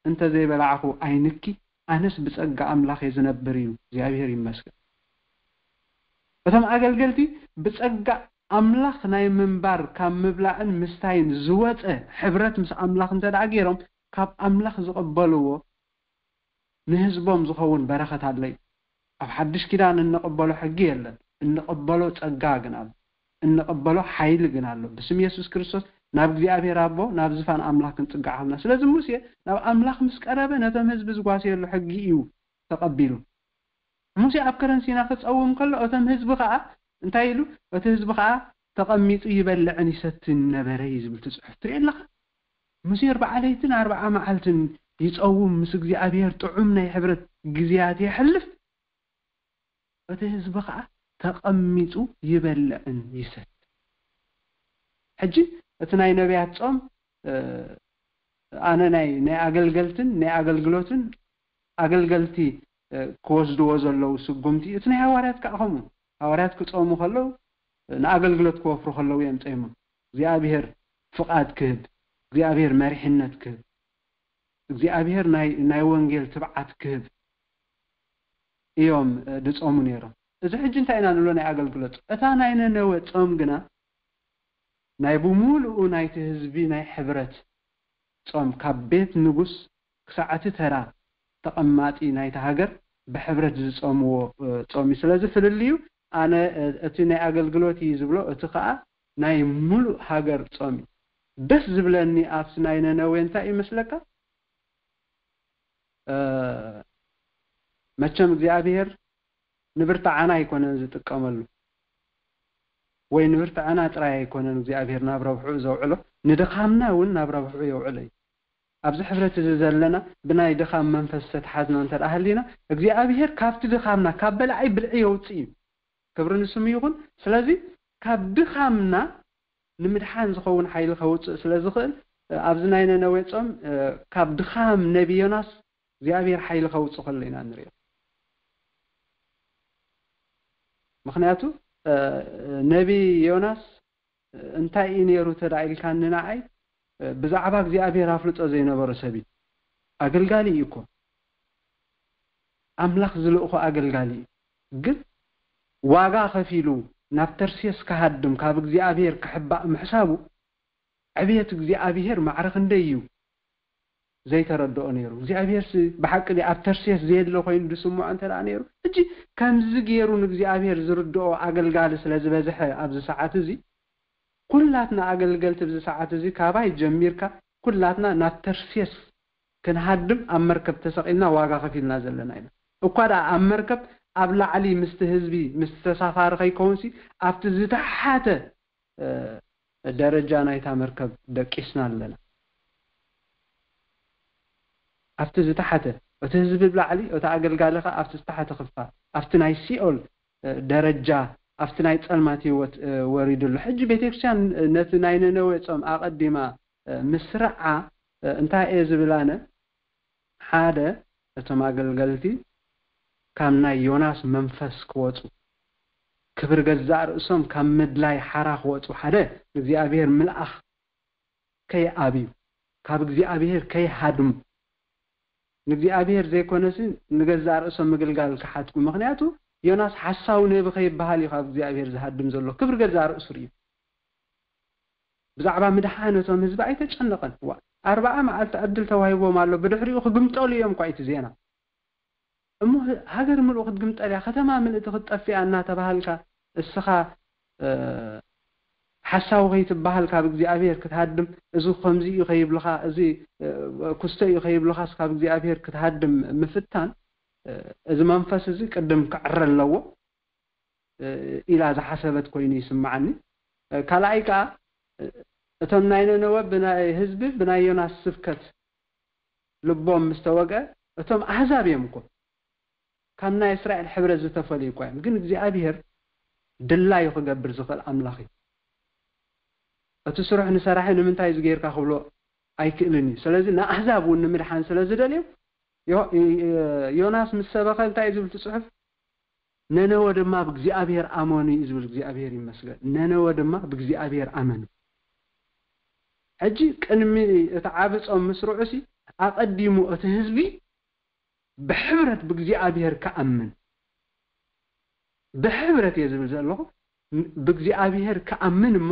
እንተ ዘይበላዕኹ ኣይንኪ፣ ኣነስ ብጸጋ ኣምላኽ እየ ዝነብር እዩ። እግዚኣብሔር ይመስገን። እቶም ኣገልገልቲ ብጸጋ ኣምላኽ ናይ ምንባር ካብ ምብላዕን ምስታይን ዝወጸ ሕብረት ምስ ኣምላኽ እንተ ደኣ ገይሮም ካብ ኣምላኽ ዝቕበልዎ ንህዝቦም ዝኸውን በረኸት ኣሎ እዩ። ኣብ ሓድሽ ኪዳን እንቕበሎ ሕጊ የለን፣ እንቕበሎ ጸጋ ግን ኣሎ፣ እንቕበሎ ሓይሊ ግን ኣሎ። ብስም የሱስ ክርስቶስ ናብ እግዚኣብሔር ኣቦ ናብ ዝፋን ኣምላኽ ክንጽጋዕ ሃብና። ስለዚ ሙሴ ናብ ኣምላኽ ምስ ቀረበ ነቶም ህዝቢ ዝጓስየሉ ሕጊ እዩ ተቐቢሉ። ሙሴ ኣብ ከረን ሲና ክጸውም ከሎ እቶም ህዝቢ ኸኣ እንታይ ኢሉ? እቲ ህዝቢ ኸኣ ተቐሚጡ ይበልዕን ይሰትን ነበረ እዩ ዝብል እቲ ጽሑፍ። ትርኢ ኣለኻ? ሙሴ ኣርብዓ ለይትን ኣርብዓ መዓልትን ይጸውም፣ ምስ እግዚኣብሔር ጥዑም ናይ ሕብረት ግዜያት የሕልፍ። እቲ ህዝቢ ኸኣ ተቐሚጡ ይበልዕን ይሰትን። ሕጂ እቲ ናይ ነቢያት ጾም ኣነ ናይ ናይ ኣገልገልትን ናይ ኣገልግሎትን ኣገልገልቲ ክወስድዎ ዘለዉ ስጉምቲ እቲ ናይ ሃዋርያት ከዓ ከምኡ። ሃዋርያት ክጾሙ ከለዉ ንኣገልግሎት ክወፍሩ ከለዉ እዮም ጾሞም። እግዚኣብሔር ፍቓድ ክህብ፣ እግዚኣብሔር መሪሕነት ክህብ፣ እግዚኣብሔር ናይ ናይ ወንጌል ትብዓት ክህብ እዮም ድጾሙ ነይሮም። እዚ ሕጂ እንታይ ኢና ንብሎ ናይ ኣገልግሎት ጾም። እታ ናይ ነነወ ጾም ግና ናይ ብምሉኡ ናይቲ ህዝቢ ናይ ሕብረት ጾም ካብ ቤት ንጉስ ክሳዕ እቲ ተራ ተቐማጢ ናይቲ ሃገር ብሕብረት ዝጸምዎ ጾም እዩ። ስለዚ ፍልልዩ ኣነ እቲ ናይ ኣገልግሎት እዩ ዝብሎ፣ እቲ ኸኣ ናይ ምሉእ ሃገር ጾም እዩ። ደስ ዝብለኒ ኣብቲ ናይ ነነዌ እንታይ እዩ መስለካ? መቸም እግዚኣብሔር ንብርትዓና ኣይኮነን ዝጥቀመሉ፣ ወይ ንብርትዓና ጥራይ ኣይኮነን እግዚኣብሔር ናብ ረብሕኡ ዘውዕሎ፣ ንድኻምና እውን ናብ ረብሕኡ የውዕሎ እዩ። ኣብዚ ሕብረት እዚ ዘለና ብናይ ድኻም መንፈስ ዝተትሓዝና እንተ ደኣ ሃሊና እግዚኣብሔር ካብቲ ድኻምና ካብ በላዒ ብልዒ የውፅእ እዩ። ክብሪ ንስሙ ይኹን። ስለዚ ካብ ድኻምና ንምድሓን ዝኸውን ሓይሊ ከውፅእ ስለ ዝኽእል ኣብዚ ናይ ነነዌ ጾም ካብ ድኻም ነቢ ዮናስ እግዚኣብሔር ሓይሊ ከውፅእ ከሎ ኢና ንሪኦ። ምኽንያቱ ነቢ ዮናስ እንታይ እዩ ነይሩ ተዳ ኢልካኒ ንዓይ ብዛዕባ እግዚኣብሔር ኣፍልጦ ዘይነበሮ ሰብ እዩ። ኣገልጋሊ እዩ እኮ፣ ኣምላኽ ዝልእኾ ኣገልጋሊ እዩ። ግን ዋጋ ከፊሉ ናብ ተርሴስ ክሃድም ካብ እግዚኣብሔር ክሕባእ ምሕሳቡ ዕብየት እግዚኣብሔር ማዕረ ክንደይ እዩ ዘይተረድኦ ነይሩ። እግዚኣብሔር ሲ ብሓቂ ድዩ ኣብ ተርሴስ ዘየለ ኮይኑ ዝስምዖ እንተ ደኣ ነይሩ፣ ሕጂ ከምዚ ገይሩ ንእግዚኣብሔር ዝርድኦ ኣገልጋሊ ስለ ዝበዝሐ ኣብዚ ሰዓት እዚ ኩላትና ኣገልገልቲ ኣብዚ ሰዓት እዚ ካባይ ጀሚርካ ኩላትና ናብ ተርሴስ ክንሃድም ኣብ መርከብ ተሰቒልና ዋጋ ከፊልና ዘለና ኢና። እኳ ደኣ ኣብ መርከብ ኣብ ላዕሊ ምስቲ ህዝቢ ምስቲ ተሳፋሪ ከይከውንሲ ኣብቲ ዝተሓተ ደረጃ ናይታ መርከብ ደቂስና ኣለና። ኣብቲ ዝተሓተ እቲ ህዝቢ ብላዕሊ እቲ ኣገልጋሊ ከኣ ኣብቲ ዝተሓተ ክፋል ኣብቲ ናይ ሲኦል ደረጃ ኣብቲ ናይ ጸልማት ህይወት ወሪዱ ኣሎ። ሕጂ ቤተክርስትያን ነቲ ናይ ነነዌ ጾም ኣቐዲማ ምስርዓ እንታይ እየ ዝብል ኣነ? ሓደ እቶም ኣገልገልቲ ካብ ናይ ዮናስ መንፈስ ክወጹ ክብሪ ገዛእ ርእሶም ካብ ምድላይ ሓራ ክወፁ፣ ሓደ ንእግዚኣብሔር ምልኣኽ ከይኣብዩ፣ ካብ እግዚኣብሔር ከይሃድሙ፣ ንእግዚኣብሔር ዘይኮነሲ ንገዛእ ርእሶም ምግልጋል ክሓትኩ። ምኽንያቱ ዮናስ ሓሳዊ ነቢ ከይበሃል እዩ ካብ እግዚኣብሔር ዝሃድም ዘሎ። ክብሪ ገዛእ ርእሱ ርእዩ። ብዛዕባ ምድሓን እቶም ህዝቢ ኣይተጨነቐን። ዋ፣ ኣርባዓ መዓልቲ ዕድል ተዋሂቦም ኣሎ። ብድሕሪኡ ክግምጠሉ እዮም እኳ እቲ ዜና። እሞ ህ- ሃገር ምሉእ ክትግምጠል እያ፣ ከተማ ምልእቲ ክትጠፍእ እያ እናተባሃልካ፣ እስኻ እ፣ ሓሳዊ ከይትበሃል ካብ እግዚኣብሔር ክትሃድም፣ እዚ ከምዚ እዩ ከይብልኻ፣ እዚ እ፣ ኩስተ እዩ ከይብልኻስ ካብ እግዚኣብሔር ክትሃድም ምፍታን፣ እ፣ እዚ መንፈስ እዚ ቅድም ክዕረ ኣለዎ እ፣ ኢላ ዝሓሰበት ኮይኑ ይስምዓኒ። እ፣ ካልኣይ ከኣ እ፣ እቶም ናይ ነነወ ብናይ ህዝቢ ብናይ ዮናስ ስብከት ልቦም ምስ ተወግአ፣ እቶም ኣህዛብ እዮም እኮ፣ ካብ ናይ እስራኤል ሕብረት ዝተፈልዩ እኳ እዮም። ግን እግዚኣብሔር ድላዩ ክገብር ዝኽእል ኣምላኽ እዩ። እቲ ስሩሕ ንሰራሒ ንምንታይ እዚ ጌርካ ክብሎ ኣይክእልን እዩ። ስለዚ ንኣህዛብ እውን ንምድሓን ስለ ዝደልዮም ዮ- ዮናስ ምስ ሰበኸ እንታይ እዩ ዝብል እቲ ጽሑፍ? ነነወ ድማ ብእግዚኣብሔር ኣመኑ እዩ ዝብል። እግዚኣብሔር ይመስገን። ነነወ ድማ ብእግዚኣብሔር ኣመኑ። ሕጂ ቅድሚ እቲ ዓቢ ጾም ምስርዑሲ ኣቐዲሙ እቲ ህዝቢ ብሕብረት ብእግዚኣብሔር ክኣምን፣ ብሕብረት እየ ዝብል ዘለኹ፣ ብእግዚኣብሔር ክኣምን እሞ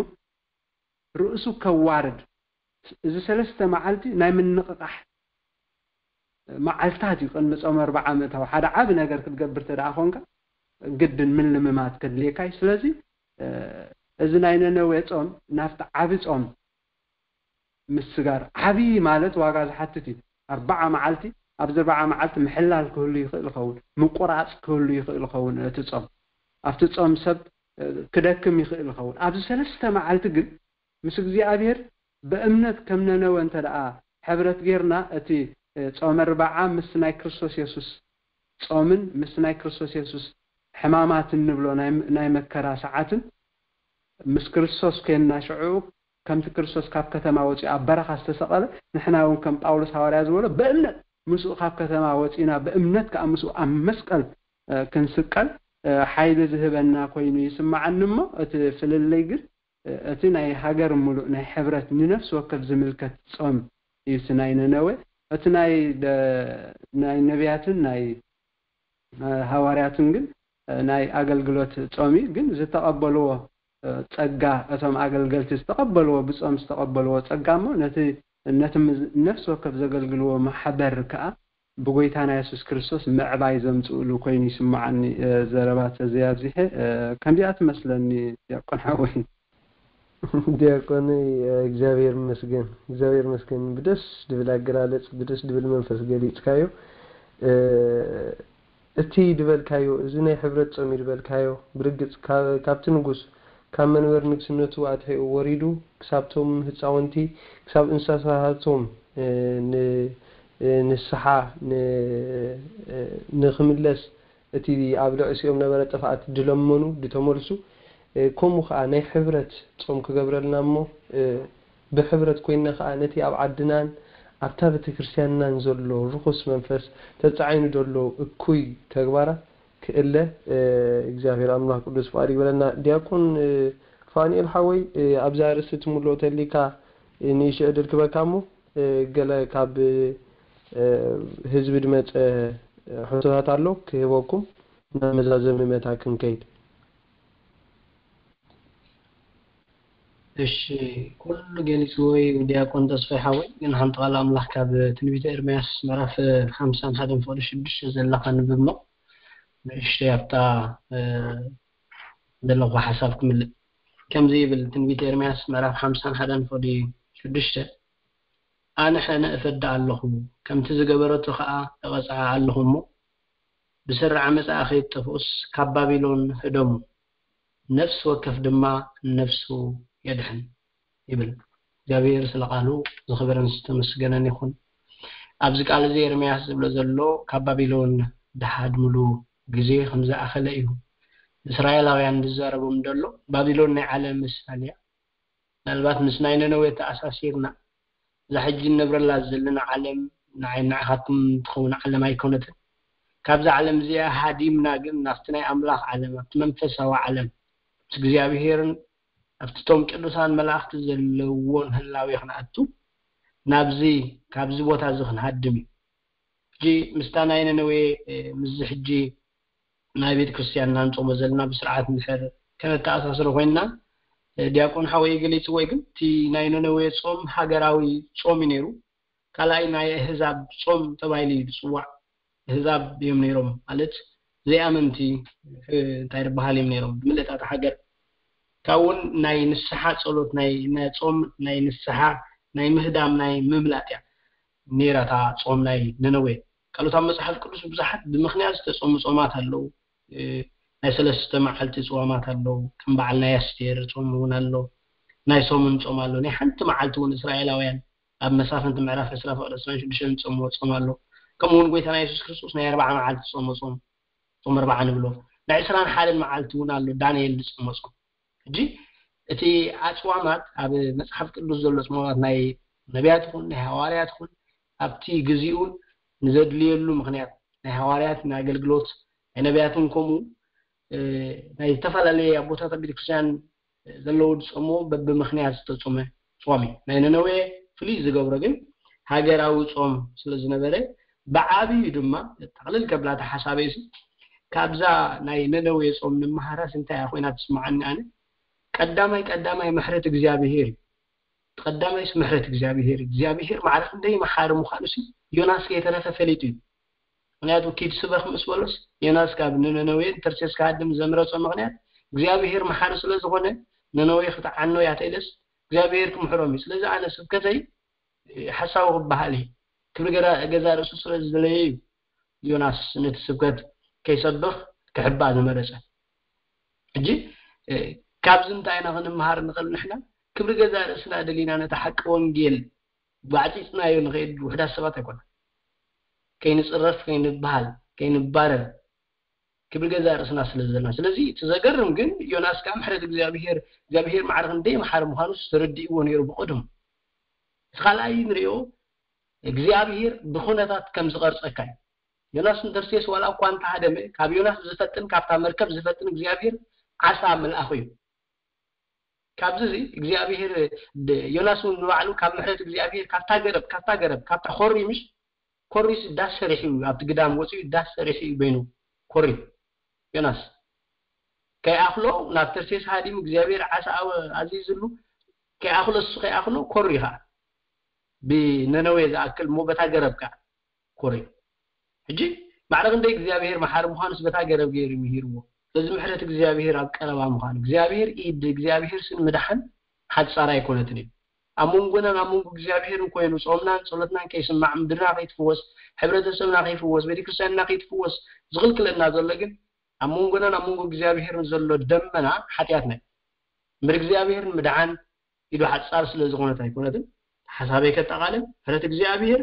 ርእሱ ከዋርድ። እዚ ሰለስተ መዓልቲ ናይ ምንቕቓሕ መዓልታት እዩ። ቅድሚ ጾም ኣርብዓ ምእታው ሓደ ዓቢ ነገር ክትገብር ተደኣ ኾንካ ግድን ምልምማት ከድልየካ እዩ። ስለዚ እዚ ናይ ነነዌ ጾም ናብቲ ዓቢ ጾም ምስጋር ዓቢ ማለት ዋጋ ዝሓትት እዩ። ኣርባዓ መዓልቲ፣ ኣብዚ ኣርባዓ መዓልቲ ምሕላል ክህሉ ይኽእል ይኸውን፣ ምቁራጽ ክህሉ ይኽእል ይኸውን። እቲ ጾም ኣብቲ ጾም ሰብ ክደክም ይኽእል ይኸውን። ኣብዚ ሰለስተ መዓልቲ ግን ምስ እግዚኣብሔር ብእምነት ከም ነነወ እንተ ደኣ ሕብረት ጌርና፣ እቲ ጾመ ኣርብዓ ምስ ናይ ክርስቶስ የሱስ ጾምን ምስ ናይ ክርስቶስ የሱስ ሕማማት እንብሎ ናይ መከራ ሰዓትን ምስ ክርስቶስ ኮይንና ሽዑ ከምቲ ክርስቶስ ካብ ከተማ ወፂኡ ኣብ በረኻ ዝተሰቐለ፣ ንሕና እውን ከም ጳውሎስ ሃዋርያ ዝበሎ ብእምነት ምስኡ ካብ ከተማ ወፂና ብእምነት ከዓ ምስኡ ኣብ መስቀል ክንስቀል ሓይሊ ዝህበና ኮይኑ ይስምዓኒ። እሞ እቲ ፍልልይ ግን እቲ ናይ ሃገር ሙሉእ ናይ ሕብረት ንነፍሲ ወከፍ ዝምልከት ጾም እዩ እቲ ናይ ነነዌ። እቲ ናይ ናይ ነቢያትን ናይ ሃዋርያትን ግን ናይ ኣገልግሎት ጾም እዩ። ግን ዝተቐበልዎ ጸጋ፣ እቶም ኣገልገልቲ ዝተቐበልዎ፣ ብጾም ዝተቐበልዎ ጸጋ እሞ ነቲ ነቲ ነፍሲ ወከፍ ዘገልግልዎ ማሕበር ከኣ ብጎይታና የሱስ ክርስቶስ ምዕባይ ዘምጽእሉ ኮይኑ ይስምዓኒ። ዘረባ ተዘይ ኣብዚሐ ከምዚኣ ትመስለኒ። ዲያቆን ሓወይ። ዲያቆን እግዚኣብሔር ይመስገን፣ እግዚኣብሔር ይመስገን። ብደስ ድብል ኣገላለጽ፣ ብደስ ድብል መንፈስ ገሊጽካዮ። እቲ ድበልካዮ፣ እዚ ናይ ሕብረት ጾም እዩ ድበልካዮ፣ ብርግጽ ካብቲ ንጉስ ካብ መንበር ንግስነቱ ኣትሒኡ ወሪዱ ክሳብቶም ህጻውንቲ ክሳብ እንስሳታቶም ንስሓ ንክምለስ እቲ ኣብ ልዕሲኦም ነበረ ጥፍኣት ድለመኑ ድተመልሱ፣ ከምኡ ከዓ ናይ ሕብረት ጾም ክገብረልና እሞ ብሕብረት ኮይንና ከዓ ነቲ ኣብ ዓድናን ኣብታ ቤተክርስትያንናን ዘሎ ርኹስ መንፈስ ተጻዒኑ ዘሎ እኩይ ተግባራት ክእለ እግዚኣብሔር ኣምላኽ ቅዱስ ፍቓድ ይበለና። ዲያቆን ፋኒኤል ሓወይ፣ ኣብዛ ርእሲ ትምልኦ ተሊካ ንእሽቶ ዕድል ክበካ እሞ ገለ ካብ ህዝቢ ድመጸ ሕቶታት ኣሎ ክህበኩም ናብ መዛዘሚ መታ ክንከይድ። እሺ፣ ኩሉ ገሊጽዎ እዩ ዲያቆን ተስፋይ ሓወይ። ግን ሓንቲ ቃል ኣምላኽ ካብ ትንቢተ ኤርምያስ ምዕራፍ ሓምሳን ሓደን ፍቕዲ ሽዱሽተ ዘላ ከንብብ እሞ ንእሽተይ ኣብታ ዘለኹ ሓሳብ ክምልእ። ከምዚ ይብል ትንቢተ ኤርምያስ ምዕራፍ ሓምሳን ሓደን ፍቕዲ ሽዱሽተ፣ ኣነ ሕነ እፈዲ ኣለኹ፣ ከምቲ ዝገበረቶ ኸኣ እቐጽዓ ኣለኹ እሞ፣ ብስሪ ዓመጻኣ ከይትጠፍኡስ ካብ ባቢሎን ህደሙ፣ ነፍሲ ወከፍ ድማ ንነፍሱ የድሕን ይብል እግዚኣብሔር። ስለ ቃሉ ዝኸበረን ዝተመስገነን ይኹን። ኣብዚ ቃል እዚ ኤርምያስ ዝብሎ ዘሎ ካብ ባቢሎን ድሓድምሉ ግዜ ከም ዝኣኸለ እዩ። እስራኤላውያን ዝዛረቦም ዘሎ ባቢሎን ናይ ዓለም ምሳል እያ። ምናልባት ምስ ናይ ነነዌ ተኣሳሲርና እዛ ሕጂ እንነብረላ ዘለና ዓለም ንዓይ ንዓኻትኩም ትኸውን ዓለም ኣይኮነትን። ካብዛ ዓለም እዚኣ ሃዲምና ግን ናብቲ ናይ ኣምላኽ ዓለም፣ ኣብቲ መንፈሳዊ ዓለም፣ ምስ እግዚኣብሄርን ኣብቲ እቶም ቅዱሳን መላእኽቲ ዘለውዎን ህላዌ ክንኣቱ፣ ናብዚ፣ ካብዚ ቦታ እዚ ክንሃድም እዩ። ሕጂ ምስታ ናይ ነነዌ፣ እ፣ ምስዚ ሕጂ ናይ ቤተ ክርስቲያንና ንጾሞ ዘለና ብስርዓት እንድሕር ከነተኣሳስሮ ኮይንና፣ እ፣ ዲያቆን ሓወይ ገሊጽዎ እዩ፣ ግን እቲ ናይ ነነዌ ጾም ሃገራዊ ጾም እዩ ነይሩ። ካልኣይ ናይ ኣህዛብ ጾም ተባሂሉ እዩ ዝጽዋዕ። ኣህዛብ እዮም ነይሮም፣ ማለት ዘይኣመንቲ፣ እ፣ እንታይ ዝበሃል እዮም ነይሮም፣ ብምልእታ እታ ሃገር። ካብኡ እውን ናይ ንስሓ ጸሎት፣ ናይ፣ ናይ ጾም፣ ናይ ንስሓ፣ ናይ ምህዳም፣ ናይ ምምላጥ እያ ነይራ እታ ጾም ናይ ነነዌ። ካልኦት ኣብ መጽሓፍ ቅዱስ ብዙሓት ብምኽንያት ዝተጾሙ ጾማት ኣለዉ። እ፣ ናይ ሰለስተ መዓልቲ ጽዋማት ኣለዉ። ከም በዓል ናይ ኣስቴር ጾም እውን ኣሎ። ናይ ሰሙን ጾም ኣሎ። ናይ ሓንቲ መዓልቲ እውን እስራኤላውያን ኣብ መሳፍንቲ ምዕራፍ ዕስራ ፍቕዲ ዕስራን ሽዱሽተን ዝጾምዎ ጾም ኣሎ። ከምኡ እውን ጎይታና የሱስ ክርስቶስ ናይ ኣርብዓ መዓልቲ ጾመ ጾም፣ ጾም ኣርብዓ ንብሎ። ናይ ዕስራን ሓደን መዓልቲ እውን ኣሎ፣ ዳንኤል ዝጾመ ጾም። ሕጂ እቲ ኣጽዋማት ኣብ መጽሓፍ ቅዱስ ዘሎ ኣጽዋማት ናይ ነቢያት ይኹን ናይ ሃዋርያት ይኹን ኣብቲ ግዜኡን ንዘድልየሉ ምኽንያት ናይ ሃዋርያት ናይ ኣገልግሎት ናይ ነቢያትን ከምኡ፣ እ፣ ናይ ዝተፈላለየ ኣቦታት ኣብ ቤተክርስትያን ዘለዉ ዝጾምዎ በብምኽንያት ዝተጾመ ጾም እዩ። ናይ ነነዌ ፍልይ ዝገብሮ ግን ሃገራዊ ጾም ስለ ዝነበረ ብዓብዩ ድማ ጠቕልል ከብላ እታ ሓሳበይሲ ካብዛ ናይ ነነዌ ጾም ንምሃራስ እንታይ እያ ኮይና ትስምዓኒ ኣነ? ቀዳማይ ቀዳማይ ምሕረት እግዚኣብሄር እዩ። ቀዳማይስ ምሕረት እግዚኣብሄር እዩ። እግዚኣብሄር ማዕረ ክንደይ መሓሪ ምዃኑሲ ዮናስ ከይተረፈ ፈሊጡ እዩ። ምኽንያቱ ኪድ ስበኽ ምስ በሎስ ዮናስ ካብ ንነነዌ ንተርሴስ ክሃድም ዘምረጾ ምኽንያት እግዚኣብሄር መሓሪ ስለ ዝኾነ ነነዌ ክትዓኖ እያ ተኢለስ እግዚኣብሄር ክምሕሮም እዩ። ስለዚ ኣነ ስብከተይ ሓሳዊ ክበሃል እዩ። ክብሪ ገዛ ርእሱ ስለ ዝደለየ እዩ ዮናስ ነቲ ስብከት ከይሰብኽ ክሕባእ ዝመረጸ። ሕጂ፣ እ፣ ካብዚ እንታይ ኢና ክንምሃር ንኽእል ንሕና? ክብሪ ገዛ ርእስና ደሊና ነቲ ሓቂ ወንጌል ጓዕጺጽናዮ ንኸይድ ውሑዳት ሰባት ኣይኮና። ከይንጽረፍ፣ ከይንበሃል፣ ከይንባረር ክብሪ ገዛ ርእስና ስለ ዘለና። ስለዚ እቲ ዘገርም ግን ዮናስ ከኣ ምሕረት እግዚኣብሄር፣ እግዚኣብሄር ማዕረ ክንደይ መሓሪ ምዃኑስ ተረዲእዎ ነይሩ ብቐደሙ። እቲ ካልኣይ ንሪኦ እግዚኣብሄር ብኹነታት ከም ዝቐርጸካ እዩ። ዮናስ ንተርሴስ ዋላ እኳ እንተሃደመ ካብ ዮናስ ዝፈጥን ካብታ መርከብ ዝፈጥን እግዚኣብሄር ዓሳ መልኣኹ እዩ። ካብዚ እዚ እግዚኣብሄር ድ-፣ ዮናስ እውን ንባዕሉ ካብ ምሕረት እግዚኣብሄር ካብታ ገረብ፣ ካብታ ገረብ፣ ካብታ ኮሪ ምሽ ኮሪስ ዳስ ሰሪሑ እዩ፣ ኣብቲ ግዳም ወፂኡ ዳስ ሰሪሑ እዩ በይኑ ኮሪ ዮናስ ከይኣኽሎ ናብ ተርሴስ ሃዲሙ እግዚኣብሔር ዓሳ ኣወ-፣ ኣዚዝሉ ከይኣኽሎ እሱ ከይኣኽሎ ኮሪ ኸዓ ብነነዌ ዝኣክል እሞ በታ ገረብ ከዓ ኮሪ። ሕጂ ማዕረ ክንደይ እግዚኣብሔር መሓሪ ምዃኑስ በታ ገረብ ገይሩ ምሂርዎ። ስለዚ ምሕረት እግዚኣብሔር ኣብ ቀረባ ምዃኑ እግዚኣብሔር ኢድ እግዚኣብሔር ስን ምድሓን ሓጻር ኣይኮነትን እዩ። ኣብ መንጎናን ኣብ መንጎ እግዚኣብሔርን ኮይኑ ጾምናን ጸሎትናን ከይስማዕ ምድርና ከይትፍወስ ሕብረተሰብና ከይፍወስ ቤተክርስትያንና ከይትፍወስ ዝኽልክለና ዘሎ ግን ኣብ መንጎናን ኣብ መንጎ እግዚኣብሔርን ዘሎ ደመና ሓጢኣትና እዩ። እምበር እግዚኣብሔር ንምድሓን ኢዱ ሓጻር ስለ ዝኾነት ኣይኮነትን። ሓሳበይ ከጠቓልል፣ ምሕረት እግዚኣብሔር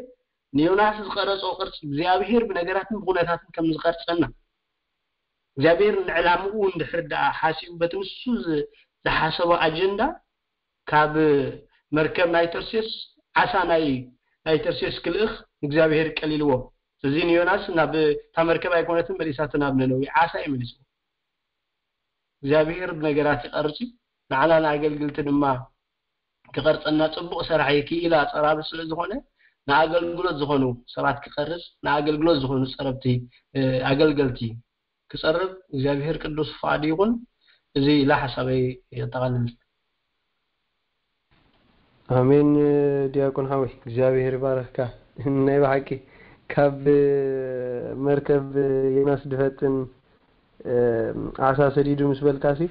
ንዮናስ ዝቐረጾ ቅርጺ እግዚኣብሔር ብነገራትን ብኹነታትን ከም ዝቐርጸና እግዚኣብሔር ንዕላምኡ እንድሕር ደኣ ሓሲቡ በቲ ንሱ ዝ-፣ ዝሓሰቦ ኣጀንዳ ካብ መርከብ ናይ ተርሴስ ዓሳ ናይ ናይ ተርሴስ ክልእኽ እግዚኣብሔር ቀሊልዎ። እዚ ንዮናስ ናብ እታ መርከብ ኣይኮነትን መሊሳቶ ናብ ነነዌ ዓሳ እዩ መሊስዎ። እግዚኣብሔር ብነገራት ይቐርጽ እዩ። ንዓና ንኣገልግልቲ ድማ ክቐርጸና ጽቡቕ ሰራሕ እዩ። ክኢላ ጸራቢ ስለ ዝኾነ ንኣገልግሎት ዝኾኑ ሰባት ክቐርጽ ንኣገልግሎት ዝኾኑ ጸረብቲ ኣገልገልቲ ክጸርብ እግዚኣብሔር ቅዱስ ፍቓዱ ይኹን። እዚ ኢላ ሓሳበይ የጠቓልል። ኣሜን። ዲያቆን ሓወይ እግዚኣብሔር ይባረኽካ። ናይ ብሓቂ ካብ መርከብ ዮናስ ድፈጥን ዓሳ ሰዲዱ ምስ በልካሲ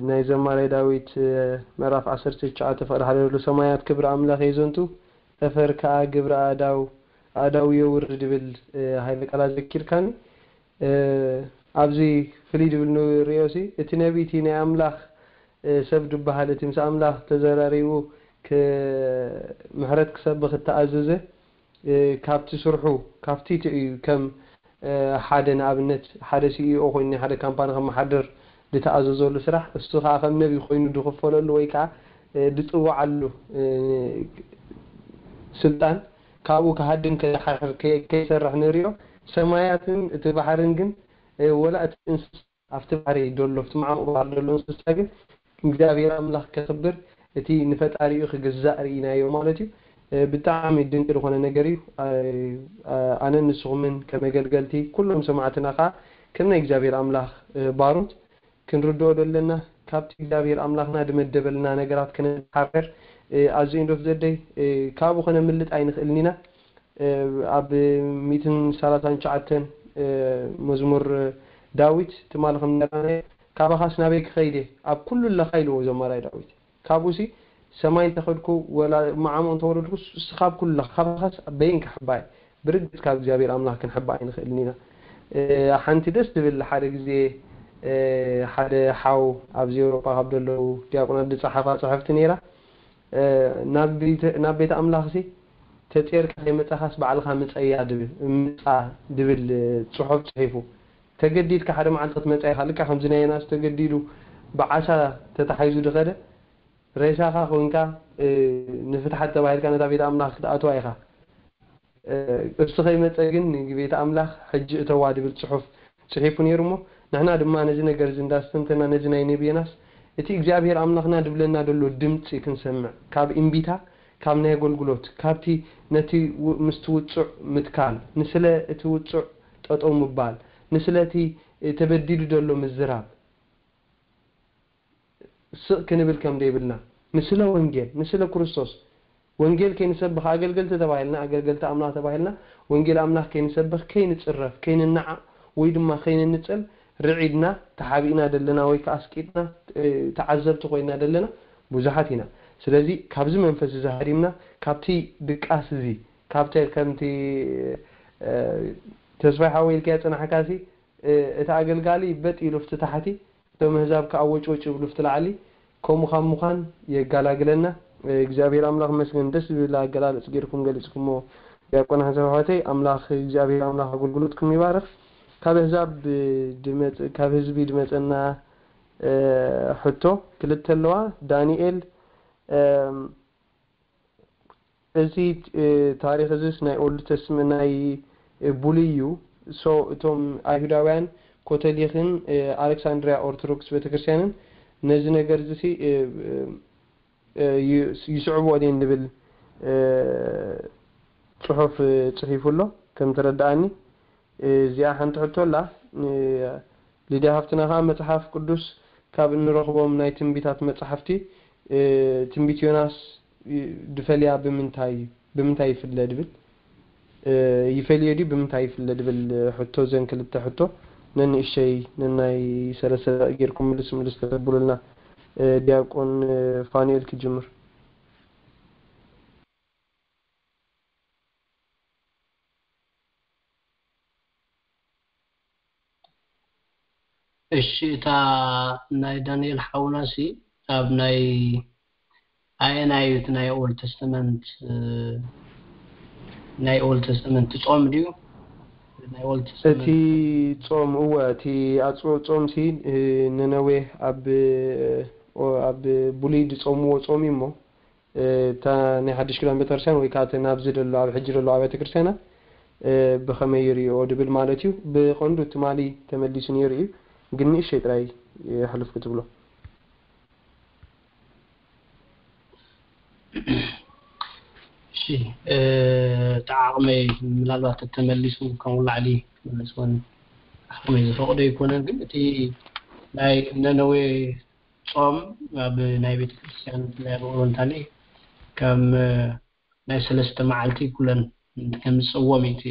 ናይ ዘማራይ ዳዊት ምዕራፍ ዓሰርተ ትሽዓተ ፍቕዲ ሓደ ዘሎ ሰማያት ክብሪ ኣምላኽ የዘንቱ ጠፈር ከኣ ግብሪ ኣእዳው ኣእዳው የውርድ ዝብል ሃይለ ቃላት ዘኪርካኒ። ኣብዚ ፍልይ ዝብል ንሪኦ ሲ እቲ ነቢ እቲ ናይ ኣምላኽ ሰብ ዝበሃል እቲ ምስ ኣምላኽ ተዘራሪቡ ምሕረት ክሰብኽ እተኣዘዘ ካብቲ ስርሑ ካብቲ እዩ ከም ሓደ ንኣብነት ሓደ ሲኢኦ ኮይኑ ናይ ሓደ ካምፓኒ ከመሓድር ዝተኣዘዘሉ ስራሕ እሱ ከዓ ከም ነቢ ኮይኑ ዝኽፈለሉ ወይ ከዓ ዝፅዋዓሉ ስልጣን ካብኡ ክሃድም ከይሰርሕ ንሪኦ። ሰማያትን እቲ ባሕርን ግን፣ እ፣ ወላ እቲ እንስሳ ኣብቲ ባሕሪ ደሎ፣ ኣብቲ ማዕሙቕ ባሕሪ ደሎ እንስሳ ግን እግዚኣብሔር ኣምላኽ ከኽብር፣ እቲ ንፈጣሪኡ ክግዛእ ርኢናዮ ማለት እዩ። እ፣ ብጣዕሚ ድንቂ ዝኾነ ነገር እዩ። እ፣ ኣነን ንስኹምን ከም ኣገልገልቲ፣ ኩሎም ሰማዕትና ኸዓ ከም ናይ እግዚኣብሔር ኣምላኽ፣ እ፣ ባሮት ክንርድኦ ደለና፣ ካብቲ እግዚኣብሔር ኣምላኽና ድመደበልና ነገራት ክነተሓሕር፣ እ፣ ኣዝዩ እንዶ ዘደይ፣ እ፣ ካብኡ ከነምልጥ ኣይንኽእልን ኢና። እ፣ ኣብ ሚእትን ሰላሳን ትሽዓተን፣ እ፣ መዝሙር ዳዊት ትማሊ ከም ነራናዮ፣ "ካባኻስ ናበይ ክኸይድ እየ? ኣብ ኩሉ ኣለኻ" ኢልዎ ዘማራይ ዳዊት። ካብኡሲ ሰማይ እንተኸድኩ ወላ ማዓሙቕ እንተወረድኩስ እስኻ ኣብ ኩሉ ኣለኻ፣ ካባኻስ በየን ክሕባ እየ? ብርግጽ ካብ እግዚኣብሔር ኣምላኽ ክንሕባ ኣይንኽእልን ኢና። እ፣ ሓንቲ ደስ ትብል ሓደ ግዜ፣ እ፣ ሓደ ሓው ኣብዚ ኤውሮጳ ካብ ዘለዉ ዲያቆናት ዝጸሓፋ ጽሕፍቲ ነይራ። እ፣ ናብ ቤተ-፣ ናብ ቤተ ኣምላኽሲ ተጼርካ ከይመጻኻስ ባዕልኻ ምጸያ ድብል፣ ምጻ ድብል ጽሑፍ ጽሒፉ። ተገዲድካ ሓደ መዓልቲ ክትመጻ ኢኻ። ልክዕ ከምዚ ናይ ዮናስ ተገዲዱ ብዓሳ ተታሒዙ ድኸደ፣ ሬሳኻ ኮንካ፣ እ፣ ንፍትሓት ተባሂልካ ነታ ቤተ ኣምላኽ ክትኣትዋ ኢኻ። እ፣ እሱ ከይመጸ ግን ንቤተ ኣምላኽ ሕጂ እተዋ ድብል ጽሑፍ ጽሒፉ ነይሩ እሞ፣ ንሕና ድማ ነዚ ነገር እዚ እንዳስተንተና ነዚ ናይ ነቢ ዮናስ፣ እቲ እግዚኣብሔር ኣምላኽና ድብለና ደሎ ድምጺ ክንሰምዕ፣ ካብ እምቢታ፣ ካብ ናይ ኣገልግሎት፣ ካብቲ ነቲ ው-፣ ምስቲ ውጹዕ ምትካል፣ ንስለ እቲ ውጹዕ ጠጠው ምባል፣ ንስለ እቲ፣ እ፣ ተበዲሉ ደሎ ምዝራብ፣ ስቕ ክንብል ከም ዘይብልና፣ ንስለ ወንጌል፣ ንስለ ክርስቶስ፣ ወንጌል ከይንሰብኽ ኣገልገልቲ ተባሂልና፣ ኣገልገልቲ ኣምላኽ ተባሂልና፣ ወንጌል ኣምላኽ ከይንሰብኽ፣ ከይንጽረፍ፣ ከይንነዓቕ፣ ወይ ድማ ከይንንጸል ርዒድና፣ ተሓቢእና ደለና ወይ ከኣ ኣስቂጥና፣ እ፣ ተዓዘብቲ ኮይና ደለና ብዙሓት ኢና። ስለዚ ካብዚ መንፈስ እዚ ሃዲምና፣ ካብቲ ድቃስ እዚ፣ ካብቲ ከምቲ፣ እ፣ ተስፋይ ሓወይ ኢልካዮ ጽናሕካሲ፣ እ፣ እቲ ኣገልጋሊ በጥ ኢሉ ፍቲ ታሕቲ፣ እቶም ኣህዛብ ከኣ ወጭወጭ ይብሉ ፍቲ ላዕሊ። ከምኡ ካብ ምዃን የጋላግለና። እ፣ እግዚኣብሔር ኣምላኽ መስገን። ደስ ዝብል ኣገላልጽ ጌርኩም ገሊጽኩሞ ዲያቆን ሓንሳብ ኣሕዋተይ። ኣምላኽ እግዚኣብሔር ኣምላኽ ኣገልግሎትኩም ይባርኽ። ካብ ኣህዛብ ድመጽ-፣ ካብ ህዝቢ ድመጸና፣ እ፣ ሕቶ ክልተ ኣለዋ። ዳንኤል፣ እም፣ እዚ፣ እ፣ ታሪኽ እዚስ ናይ ኦልድ ተስመ-፣ ናይ፣ እ፣ ብሉይ እዩ። ሶ እቶም ኣይሁዳውያን ኮተሊኽን፣ እ፣ ኣሌክሳንድሪያ ኦርቶዶክስ ቤተክርስትያንን ነዚ ነገር እዚሲ፣ እ፣ እ፣ እ፣ ዩ-፣ ይስዕብዎ ድየን ዝብል፣ እ፣ ጽሑፍ፣ እ፣ ጽሒፉ ኣሎ ከም ተረድኣኒ። እዚኣ ሓንቲ ሕቶ ኣላ። እ፣ ሊድያ ሃፍትና ከኣ መጽሓፍ ቅዱስ ካብ እንረኽቦም ናይ ትንቢታት መጻሕፍቲ፣ እ፣ ትንቢት ዮናስ፣ እ፣ ድፈልያ ብምንታይ፣ ብምንታይ ይፍለ ድብል፣ እ፣ ይፈልዮ ድዩ ብምንታይ ይፍለ ድብል ሕቶ፣ እዘን ክልተ ሕቶ ነንእሸይ ነናይ ሰለስተ ደቂቕ ጌርኩም ምልስ ምልስ ተተብሉልና። እ፣ ዲያቆን፣ እ፣ ፋኑኤል ክጅምር። እሺ፣ እታ ናይ ዳንኤል ሓውናሲ ኣብ ናይ ኣየናይ እዩ? እቲ ናይ ኦልድ ተስተመንት፣ እ፣ ናይ ኦልድ ተስተመንት ጾም ድዩ? ናይ ኦልድ ተስተመንት እቲ ጾም፣ እወ፣ እቲ ኣጽውዕ ጾምሲ፣ እ፣ ነነዌ ኣብ፣ ኦ፣ ኣብ ብሉይ ዝጾምዎ ጾም እዩ እሞ፣ እ፣ እታ ናይ ሓድሽ ኪዳን ቤተክርስትያን ወይ ከዓ እቲ ናብዚ ዘሎ፣ ኣብ ሕጂ ዘሎ ኣብያተ ክርስትያናት፣ እ፣ ብኸመይ ይርእዮ ድብል ማለት እዩ። ብቐንዱ ትማሊ ተመሊሱ ነይሩ እዩ፣ ግን ንእሽተይ ጥራይ የሕልፍ ክትብሎ። እሺ፣ እ፣ እቲ ዓቕመይ ምናልባት ተመሊሱ ከም ላዕሊ ክመልስ እውን ዓቕመይ ዝፈቕዶ ኣይኮነን፣ ግን እቲ ናይ ነነዌ ጾም ኣብ ናይ ቤተ ክርስቲያን ብፍላይ ኣብ ኦሪየንታሊ ከም፣ እ፣ ናይ ሰለስተ መዓልቲ ኩለን ከም ዝጸዎም እዩ። እቲ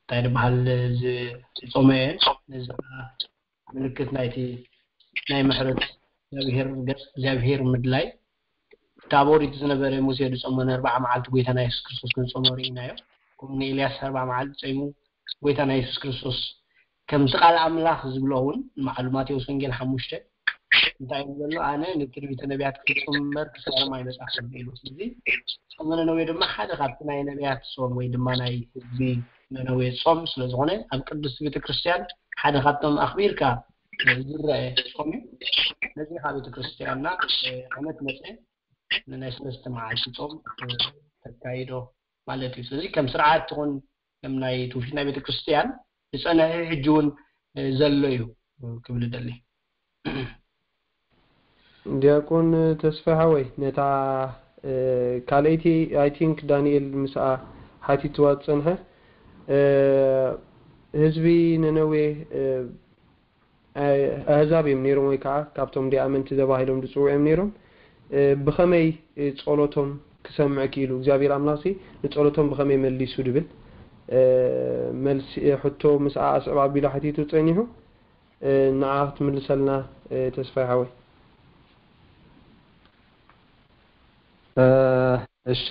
እንታይ ዝበሃል ዝ-፣ ዝጾመ እየን። ነዚ ከዓ ምልክት ናይቲ ናይ ምሕረት እግዚኣብሔር፣ ገጽ እግዚኣብሔር ምድላይ። እቲ ኣብ ኦሪት ዝነበረ ሙሴ ዝጾሞ ንኣርብዓ መዓልቲ ጎይታና የሱስ ክርስቶስ ክንጾሞ ርኢናዮ። ከምኡ ንኤልያስ ኣርብዓ መዓልቲ ጾይሙ ጎይታና የሱስ ክርስቶስ ከምቲ ቃል ኣምላኽ ዝብሎ እውን ንባዕሉ ማቴዎስ ወንጌል ሓሙሽተ እንታይ እዩ ዘሎ? ኣነ ንትንቢተ ነቢያት ክፍጽም እምበር ክሳሮም ኣይመጻኹን ኢሉ። ስለዚ ጾመ ነነዌ ድማ ሓደ ካብቲ ናይ ነቢያት ጾም ወይ ድማ ናይ ህዝቢ ነነዌ ጾም ስለ ዝኾነ ኣብ ቅድስቲ ቤተ ክርስቲያን ሓደ ካብቶም ኣኽቢርካ ዝረአ ጾም እዩ። ነዚ ካብ ቤተ ክርስቲያንና ዓመት መጸ ንናይ ሰለስተ መዓልቲ ጾም ተካይዶ ማለት እዩ። ስለዚ ከም ስርዓት ትኹን ከም ናይ ትውፊት ናይ ቤተክርስትያን ዝጸንሐ ሕጂ እውን ዘሎ እዩ ክብል ደሊ። ዲያቆን ተስፋ ሓወይ፣ ነታ ካልኣይቲ፣ I think ዳንኤል ምስኣ ሓቲትዋ ዝጸንሐ፣ ህዝቢ ነነዌ ኣህዛብ እዮም ነይሮም፣ ወይ ከዓ ካብቶም ደይኣመንቲ ተባሂሎም ዝፅውዑ እዮም ነይሮም። ብኸመይ ጸሎቶም ክሰምዕ ክኢሉ? እግዚኣብሔር ኣምላኽሲ ንጸሎቶም ብኸመይ መሊሱ ድብል መልሲ፣ ሕቶ ምስኣ ኣስዕብ ኣቢሉ ሓቲቱ ጸኒሑ። ንዓ ክትምልሰልና ተስፋይ ሓወይ። እሺ፣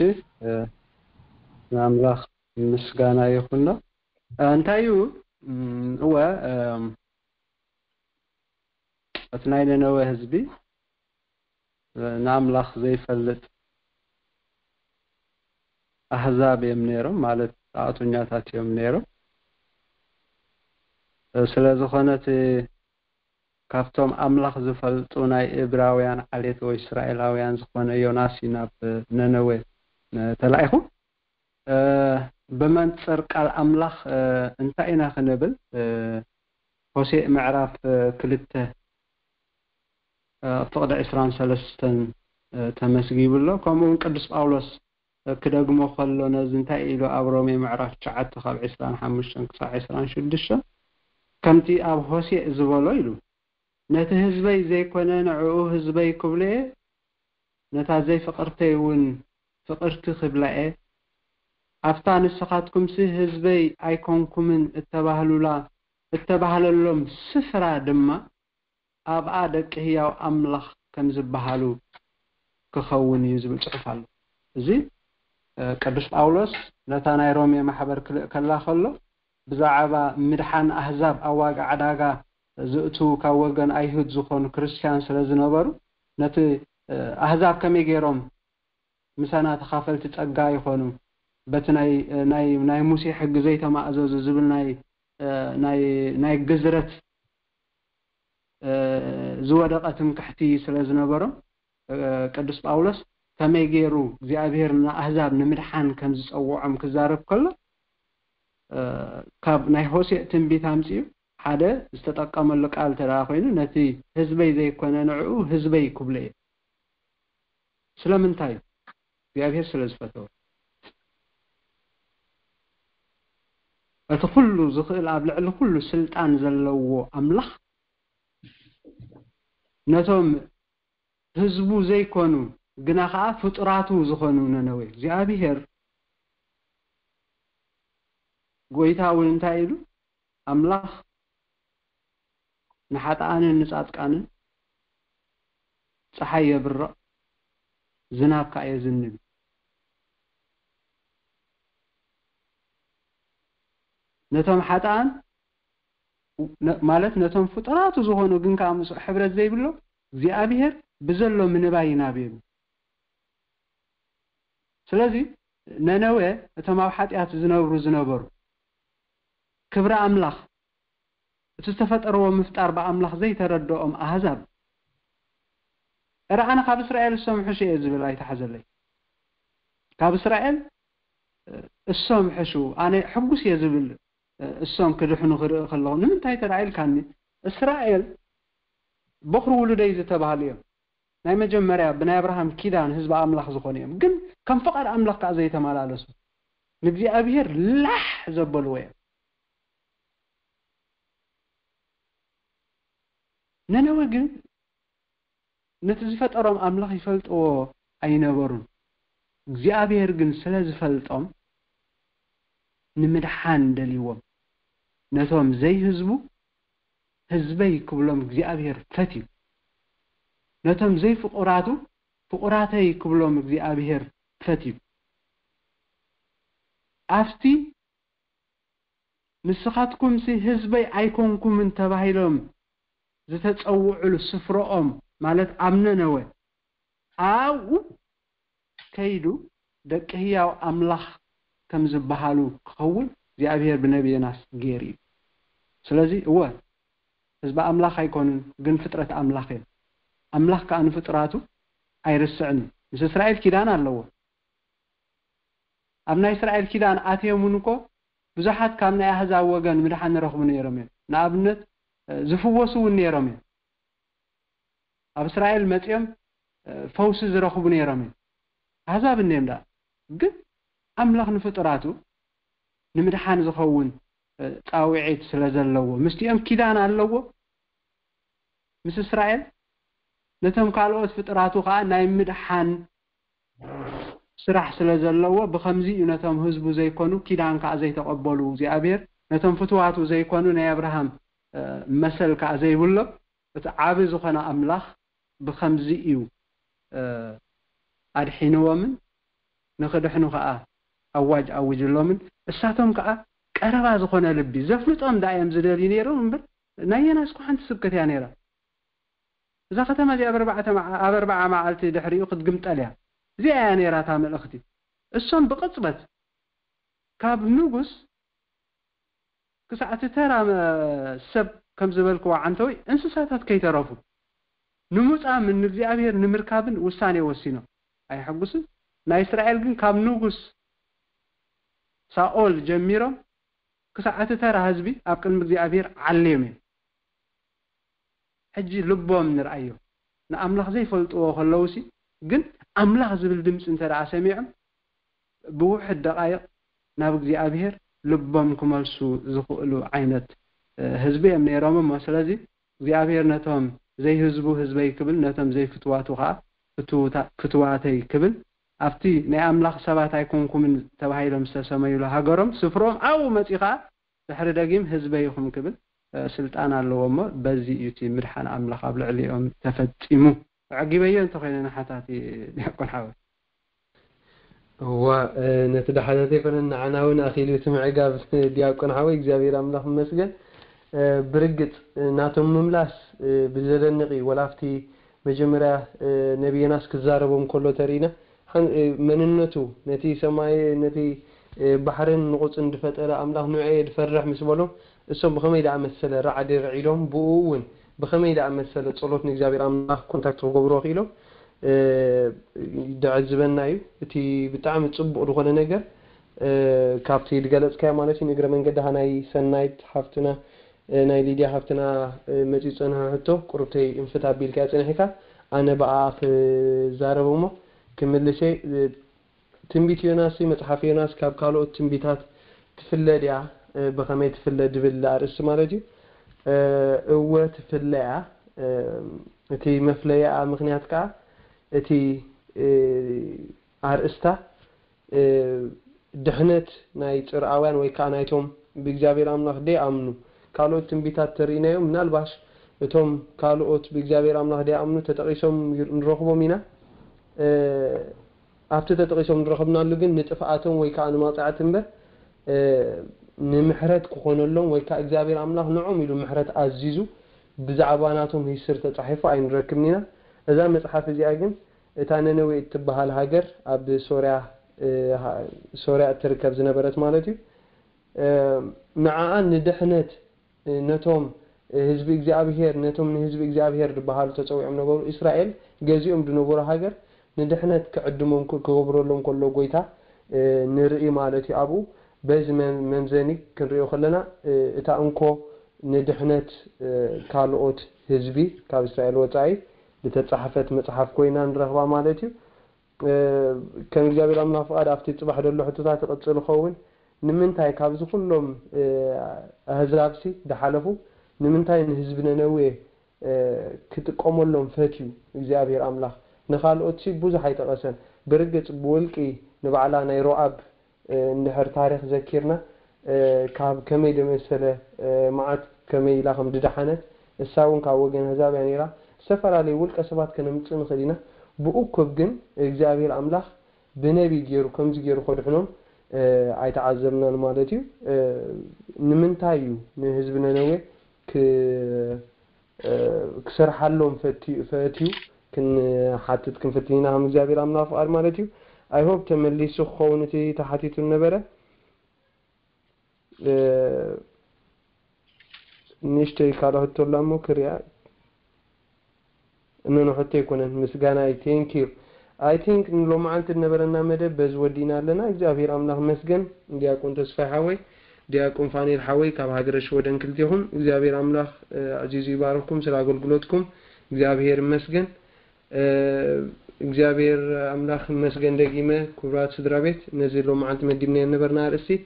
ንኣምላኽ ምስጋና ይኹኖ። እንታይ እዩ? እወ፣ እቲ ናይ ነነወ ህዝቢ ንኣምላኽ ዘይፈልጥ ኣህዛብ እዮም ነይሮም፣ ማለት ጣዖተኛታት እዮም ነይሮም። ስለ ዝኾነ እቲ ካብቶም ኣምላኽ ዝፈልጡ ናይ እብራውያን ዓሌት ወይ እስራኤላውያን ዝኾነ ዮናስ እዩ ናብ ነነዌ ተላኢኹ። ብመንፅር ቃል ኣምላኽ እንታይ ኢና ክንብል? ሆሴእ ምዕራፍ ክልተ ፍቕዲ ዕስራን ሰለስተን ተመስጊቡ ኣሎ። ከምኡ እውን ቅዱስ ጳውሎስ ክደግሞ ከሎ ነዚ እንታይ ኢሉ ኣብ ሮሜ ምዕራፍ ትሽዓተ ካብ ዕስራን ሓሙሽተን ክሳዕ ዕስራን ሽዱሽተን ከምቲ ኣብ ሆሴእ ዝበሎ ኢሉ፣ ነቲ ህዝበይ ዘይኮነ ንዕኡ ህዝበይ ክብሎ እየ፣ ነታ ዘይፍቕርተይ እውን ፍቕርቲ ክብላ እየ። ኣብታ ንስኻትኩምሲ ህዝበይ ኣይኮንኩምን እተባህሉላ እተባህለሎም ስፍራ ድማ ኣብኣ ደቂ ህያው ኣምላኽ ከም ዝበሃሉ ክኸውን እዩ ዝብል ጽሑፍ ኣሎ። እዚ ቅዱስ ጳውሎስ ነታ ናይ ሮሜ ማሕበር ክልእ ከላ ከሎ ብዛዕባ ምድሓን ኣህዛብ ኣብ ዋጋ ዕዳጋ ዝእትዉ ካብ ወገን ኣይሁድ ዝኾኑ ክርስትያን ስለ ዝነበሩ ነቲ ኣህዛብ ከመይ ገይሮም ምሳና ተኻፈልቲ ጸጋ ይኾኑ በቲ ናይ ናይ ናይ ሙሴ ሕጊ ዘይተማእዘዙ ዝብል ናይ ናይ ናይ ግዝረት ዝወደቐ ትምክሕቲ ስለ ዝነበሮም ቅዱስ ጳውሎስ ከመይ ገይሩ እግዚኣብሔር ንኣህዛብ ንምድሓን ከም ዝጸውዖም ክዛረብ ከሎ ካብ ናይ ሆሴእ ትንቢት ኣምጺኡ ሓደ ዝተጠቀመሉ ቃል እንተ ደኣ ኮይኑ ነቲ ህዝበይ ዘይኮነ ንዕኡ ህዝበይ ክብሎ እየ። ስለምንታይ? እግዚኣብሔር ስለ ዝፈተወ። እቲ ኩሉ ዝኽእል ኣብ ልዕሊ ኩሉ ስልጣን ዘለዎ ኣምላኽ ነቶም ህዝቡ ዘይኮኑ ግና ኸዓ ፍጡራቱ ዝኾኑ ነነዌ እግዚኣብሔር ጎይታ እውን እንታይ ኢሉ? ኣምላኽ ንሓጥኣንን ንጻድቃንን ጸሓይ የብርቕ፣ ዝናብ ከኣ የዝንብ። ነቶም ሓጥኣን ማለት ነቶም ፍጡራቱ ዝኾኑ ግን ከኣ ምስኡ ሕብረት ዘይብሎ እግዚኣብሔር ብዘሎ ምንባይ ይናብዮም። ስለዚ ነነዌ እቶም ኣብ ሓጢኣት ዝነብሩ ዝነበሩ ክብሪ ኣምላኽ እቲ ዝተፈጠርዎ ምፍጣር ብኣምላኽ ዘይተረድኦም ኣህዛብ እረ ኣነ ካብ እስራኤል እሶም ሕሹ እየ ዝብል ኣይተሓዘለይ። ካብ እስራኤል እሶም ሕሹ ኣነ ሕጉስ እየ ዝብል እሶም ክድሕኑ ክርኢ ከለኹ ንምንታይ ተዳዒልካኒ? እስራኤል በኹሪ ውሉደይ ዝተባህሉ እዮም። ናይ መጀመርያ ብናይ ኣብርሃም ኪዳን ህዝቢ ኣምላኽ ዝኾኑ እዮም። ግን ከም ፍቓድ ኣምላኽ ከዓ ዘይተመላለሱ ንእግዚኣብሔር ላሕ ዘበልዎ እዮም። ነነወ ግን ነቲ ዝፈጠሮም ኣምላኽ ይፈልጥዎ ኣይነበሩን። እግዚኣብሔር ግን ስለ ዝፈልጦም ንምድሓን ደልይዎም ነቶም ዘይህዝቡ ህዝበይ ክብሎም እግዚኣብሔር ፈትዩ። ነቶም ዘይፍቑራቱ ፍቑራተይ ክብሎም እግዚኣብሔር ፈትዩ። ኣብቲ ንስኻትኩምሲ ህዝበይ ኣይኮንኩምን ተባሂሎም ዝተጸውዑሉ ስፍረኦም ማለት ኣብ ነነወ ኣብኡ ከይዱ ደቂ ህያው ኣምላኽ ከም ዝበሃሉ ክኸውን እግዚኣብሔር ብነቢ ዮናስ ገይሩ እዩ። ስለዚ እወ ህዝቢ ኣምላኽ ኣይኮኑን፣ ግን ፍጥረት ኣምላኽ እዮም። ኣምላኽ ከኣ ንፍጡራቱ ኣይርስዕን እዩ። ምስ እስራኤል ኪዳን ኣለዎ። ኣብ ናይ እስራኤል ኪዳን ኣትዮም እውን እኮ ብዙሓት ካብ ናይ ኣህዛብ ወገን ምድሓን ይረኽቡ ነይሮም እዮም። ንኣብነት ዝፍወሱ እውን ነይሮም እዮም። ኣብ እስራኤል መጺኦም ፈውሲ ዝረኽቡ ነይሮም እዮም። ኣህዛብ እንዮም ደኣ። ግን ኣምላኽ ንፍጡራቱ ንምድሓን ዝኸውን ጻውዒት ስለ ዘለዎ ምስቲኦም ኪዳን ኣለዎ። ምስ እስራኤል ነቶም ካልኦት ፍጥራቱ ከዓ ናይ ምድሓን ስራሕ ስለ ዘለዎ ብኸምዚ እዩ ነቶም ህዝቡ ዘይኮኑ ኪዳን ከዓ ዘይተቐበሉ እግዚኣብሔር ነቶም ፍትዋቱ ዘይኮኑ ናይ ኣብርሃም መሰል ከዓ ዘይብሎም እቲ ዓቢ ዝኾነ ኣምላኽ ብኸምዚ እዩ ኣድሒንዎምን ንኽድሕኑ ከዓ ኣዋጅ ኣውጅሎምን እሳቶም ከዓ ቀረባ ዝኾነ ልቢ ዘፍልጦም ዳ እዮም ዝደልዩ ነይሮም እምበር ናይ የናስ እኮ ሓንቲ ስብከት እያ ነይራ። እዛ ከተማ እዚኣ ኣብ ኣርባዕተ መዓ- ኣብ ኣርባዓ መዓልቲ ድሕሪኡ ክትግምጠል እያ። እዚኣ እያ ነይራ እታ መልእኽቲ። እሶም ብቕጽበት ካብ ንጉስ ክሳዕ እቲ ተራ መ- ሰብ ከም ዝበልክዎ ዓንተወይ እንስሳታት ከይተረፉ ንምጻምን ንእግዚኣብሔር ንምርካብን ውሳኔ ወሲኖም። ኣይሐጉስን? ናይ እስራኤል ግን ካብ ንጉስ ሳኦል ጀሚሮም ክሳዕ እቲ ተራ ህዝቢ ኣብ ቅድሚ እግዚኣብሔር ዓልዮም እዮም። ሕጂ ልቦም ንርኣዮ። ንኣምላኽ ዘይፈልጥዎ ከለውሲ ግን ኣምላኽ ዝብል ድምፂ እንተ ደኣ ሰሚዖም ብውሕድ ደቓይቕ ናብ እግዚኣብሔር ልቦም ክመልሱ ዝኽእሉ ዓይነት ህዝቢ እዮም ነይሮም እሞ ስለዚ እግዚኣብሔር ነቶም ዘይህዝቡ ህዝበይ ክብል ነቶም ዘይፍትዋቱ ከዓ ፍትዋተይ ክብል ኣብቲ ናይ ኣምላኽ ሰባት ኣይኮንኩምን ተባሂሎም ዝተሰመዩሉ ሃገሮም ስፍሮም ኣብኡ መፂኡ ከዓ ድሕሪ ደጊም ህዝበይ ኢኹም ክብል ስልጣን ኣለዎ እሞ በዚ እዩ እቲ ምድሓን ኣምላኽ ኣብ ልዕሊኦም ተፈፂሙ። ኣዕጊበዮ እንተኮይነ ንሓታቲ ዲያቆን ሓወ እዋ ነቲ ዳሓታት ኣይኮነን ንዓና እውን ኣኺሉ እቲ ምዕጋብ ዲያቆን ሓወይ እግዚኣብሔር ኣምላኽ ይመስገን። ብርግጽ ናቶም ምምላስ ብዘደንቕ እዩ ወላ ኣብቲ መጀመርያ ነቢ ዮናስ ክዛረቦም ከሎ ተሪእና መንነቱ ነቲ ሰማይ ነቲ ባሕርን ንቑጽን ዝፈጠረ ኣምላኽ ንዕየ ዝፈርሕ ምስ በሎ እሶም ብኸመይ ደኣ መሰለ ራዕዲ ርዒዶም ብኡ እውን ብኸመይ ደኣ መሰለ ጸሎት ንእግዚኣብሔር ኣምላኽ ኮንታክት ክገብርዎ ክኢሎም ደዕዝበና እዩ። እቲ ብጣዕሚ ጽቡቕ ዝኾነ ነገር ካብቲ ዝገለጽካዮ ማለት እዩ ንእግረ መንገድኻ ናይ ሰናይት ሓፍትና ናይ ሊድያ ሓፍትና መጺኡ ዝጸንሐ ሕቶ ቁሩብተይ እንፍት ኣቢልካዮ ጸኒሕካ ኣነ ብኣኣ ክዛረብ እሞ ክምልስ እየ ትንቢት ዮናስ መጽሓፍ ዮናስ ካብ ካልኦት ትንቢታት ትፍለ ድያ ብኸመይ ትፍለ ድብል ኣርእስቲ ማለት እዩ እወ ትፍለ እያ እቲ መፍለያኣ ምክንያት ከዓ እቲ ኣርእስታ ድሕነት ናይ ጽርኣውያን ወይ ከዓ ናይቶም ብእግዚኣብሔር ኣምላኽ ደይኣምኑ ካልኦት ትንቢታት ተርእናዮም ምናልባሽ እቶም ካልኦት ብእግዚኣብሔር ኣምላኽ ደይኣምኑ ተጠቒሶም ንረኽቦም ኢና ኣብቲ ተጠቒሶም ንረኸብናሉ ግን ንጥፍኣቶም ወይ ከዓ ንመቕፃዕቲ እምበር ንምሕረት ክኾነሎም ወይ ከዓ እግዚኣብሔር ኣምላኽ ንዖም ኢሉ ምሕረት ኣዚዙ ብዛዕባ ናቶም ሂስትሪ ተፃሒፉ ኣይንረክብን ኢና እዛ መፅሓፍ እዚኣ ግን እታ ነነዌ እትበሃል ሃገር ኣብ ሶርያ ሶርያ እትርከብ ዝነበረት ማለት እዩ ንዓኣ ንድሕነት ነቶም ህዝቢ እግዚኣብሄር ነቶም ንህዝቢ እግዚኣብሄር ዝበሃሉ ተፀዊዖም ነበሩ እስራኤል ገዚኦም ዝነበሩ ሃገር ንድሕነት ክዕድሞም ክገብረሎም ከሎ ጎይታ ንርኢ ማለት እዩ ኣብኡ በዚ መምዘኒ ክንሪኦ ከለና እታ እንኮ ንድሕነት ካልኦት ህዝቢ ካብ እስራኤል ወፃኢ ዝተፃሓፈት መፅሓፍ ኮይና ንረኽባ ማለት እዩ ከም እግዚኣብሔር ኣምላኽ ፍቓድ ኣብቲ ፅባሕ ዘሎ ሕቶታት ይቕፅል ይኸውን ንምንታይ ካብዚ ኩሎም ኣህዛብሲ ዝሓለፉ ንምንታይ ንህዝቢ ነነዌ ክጥቀመሎም ፈትዩ እግዚኣብሔር ኣምላኽ ንኻልኦትሲ ብዙሕ ኣይጠቐሰን ብርግፅ ብውልቂ ንባዕላ ናይ ሮኣብ እንድሕር ታሪኽ ዘኪርና ካብ ከመይ ደመሰለ መዓት ከመይ ኢላ ከም ድደሓነት እሳ እውን ካብ ወገን ኣህዛብ እያ ነይራ ዝተፈላለዩ ውልቀ ሰባት ከነምፅእ ንኽእል ኢና ብእኩብ ግን እግዚኣብሔር ኣምላኽ ብነቢ ገይሩ ከምዚ ገይሩ ከድሕኖም ኣይተዓዘብናን ማለት እዩ ንምንታይ እዩ ንህዝቢ ነነዌ ክሰርሓሎም ፈትዩ ክንሓትት ክንፍትን ኢና ከም እግዚኣብሔር ኣምላኽ ፍቓድ ማለት እዩ ኣይሆብ ተመሊሱ ክኸውን እቲ ተሓቲቱ ነበረ ንእሽተይ ካልኦ ሕቶ ኣላ እሞ ክሪኣ እነኖ ሕቶ ኣይኮነን ምስጋና እዩ thank you I think ንሎማዓንቲ ዝነበረና መደብ በዚ ወዲእና ኣለና እግዚኣብሔር ኣምላኽ መስገን ዲያቆን ተስፋይ ሓወይ ዲያቆን ፋኒል ሓወይ ካብ ሃገረ ሽወደን ክልቴኹም እግዚኣብሔር ኣምላኽ ኣዕዚዙ ይባርኽኩም ስለ ኣገልግሎትኩም እግዚኣብሔር ይመስገን። እግዚኣብሔር ኣምላኽ ይመስገን። ደጊመ ክቡራት ስድራ ቤት ነዚ ሎመዓልቲ መዲብናዮ ነበርና ኣርእስቲ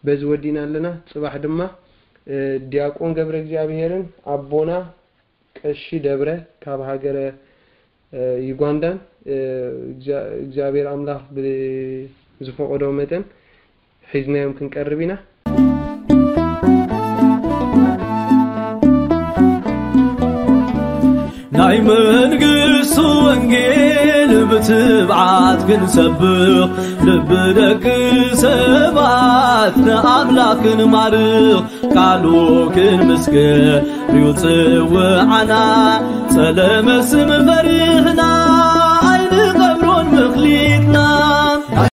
በዚ ወዲና ኣለና። ጽባሕ ድማ ዲያቆን ገብረ እግዚኣብሔርን ኣቦና ቀሺ ደብረ ካብ ሃገረ ዩጋንዳን እግዚኣብሔር ኣምላኽ ብዝፈቐዶ መጠን ሒዝናዮም ክንቀርብ ኢና። ናይ መንግስቱ ወንጌል ብትብዓት ክንሰብኽ ልቢ ደቂ ሰባት ንኣምላኽ ክንማርኽ ቃሉ ክንምስክር ይውፅውዓና ጸለመ ስም ፈሪኽ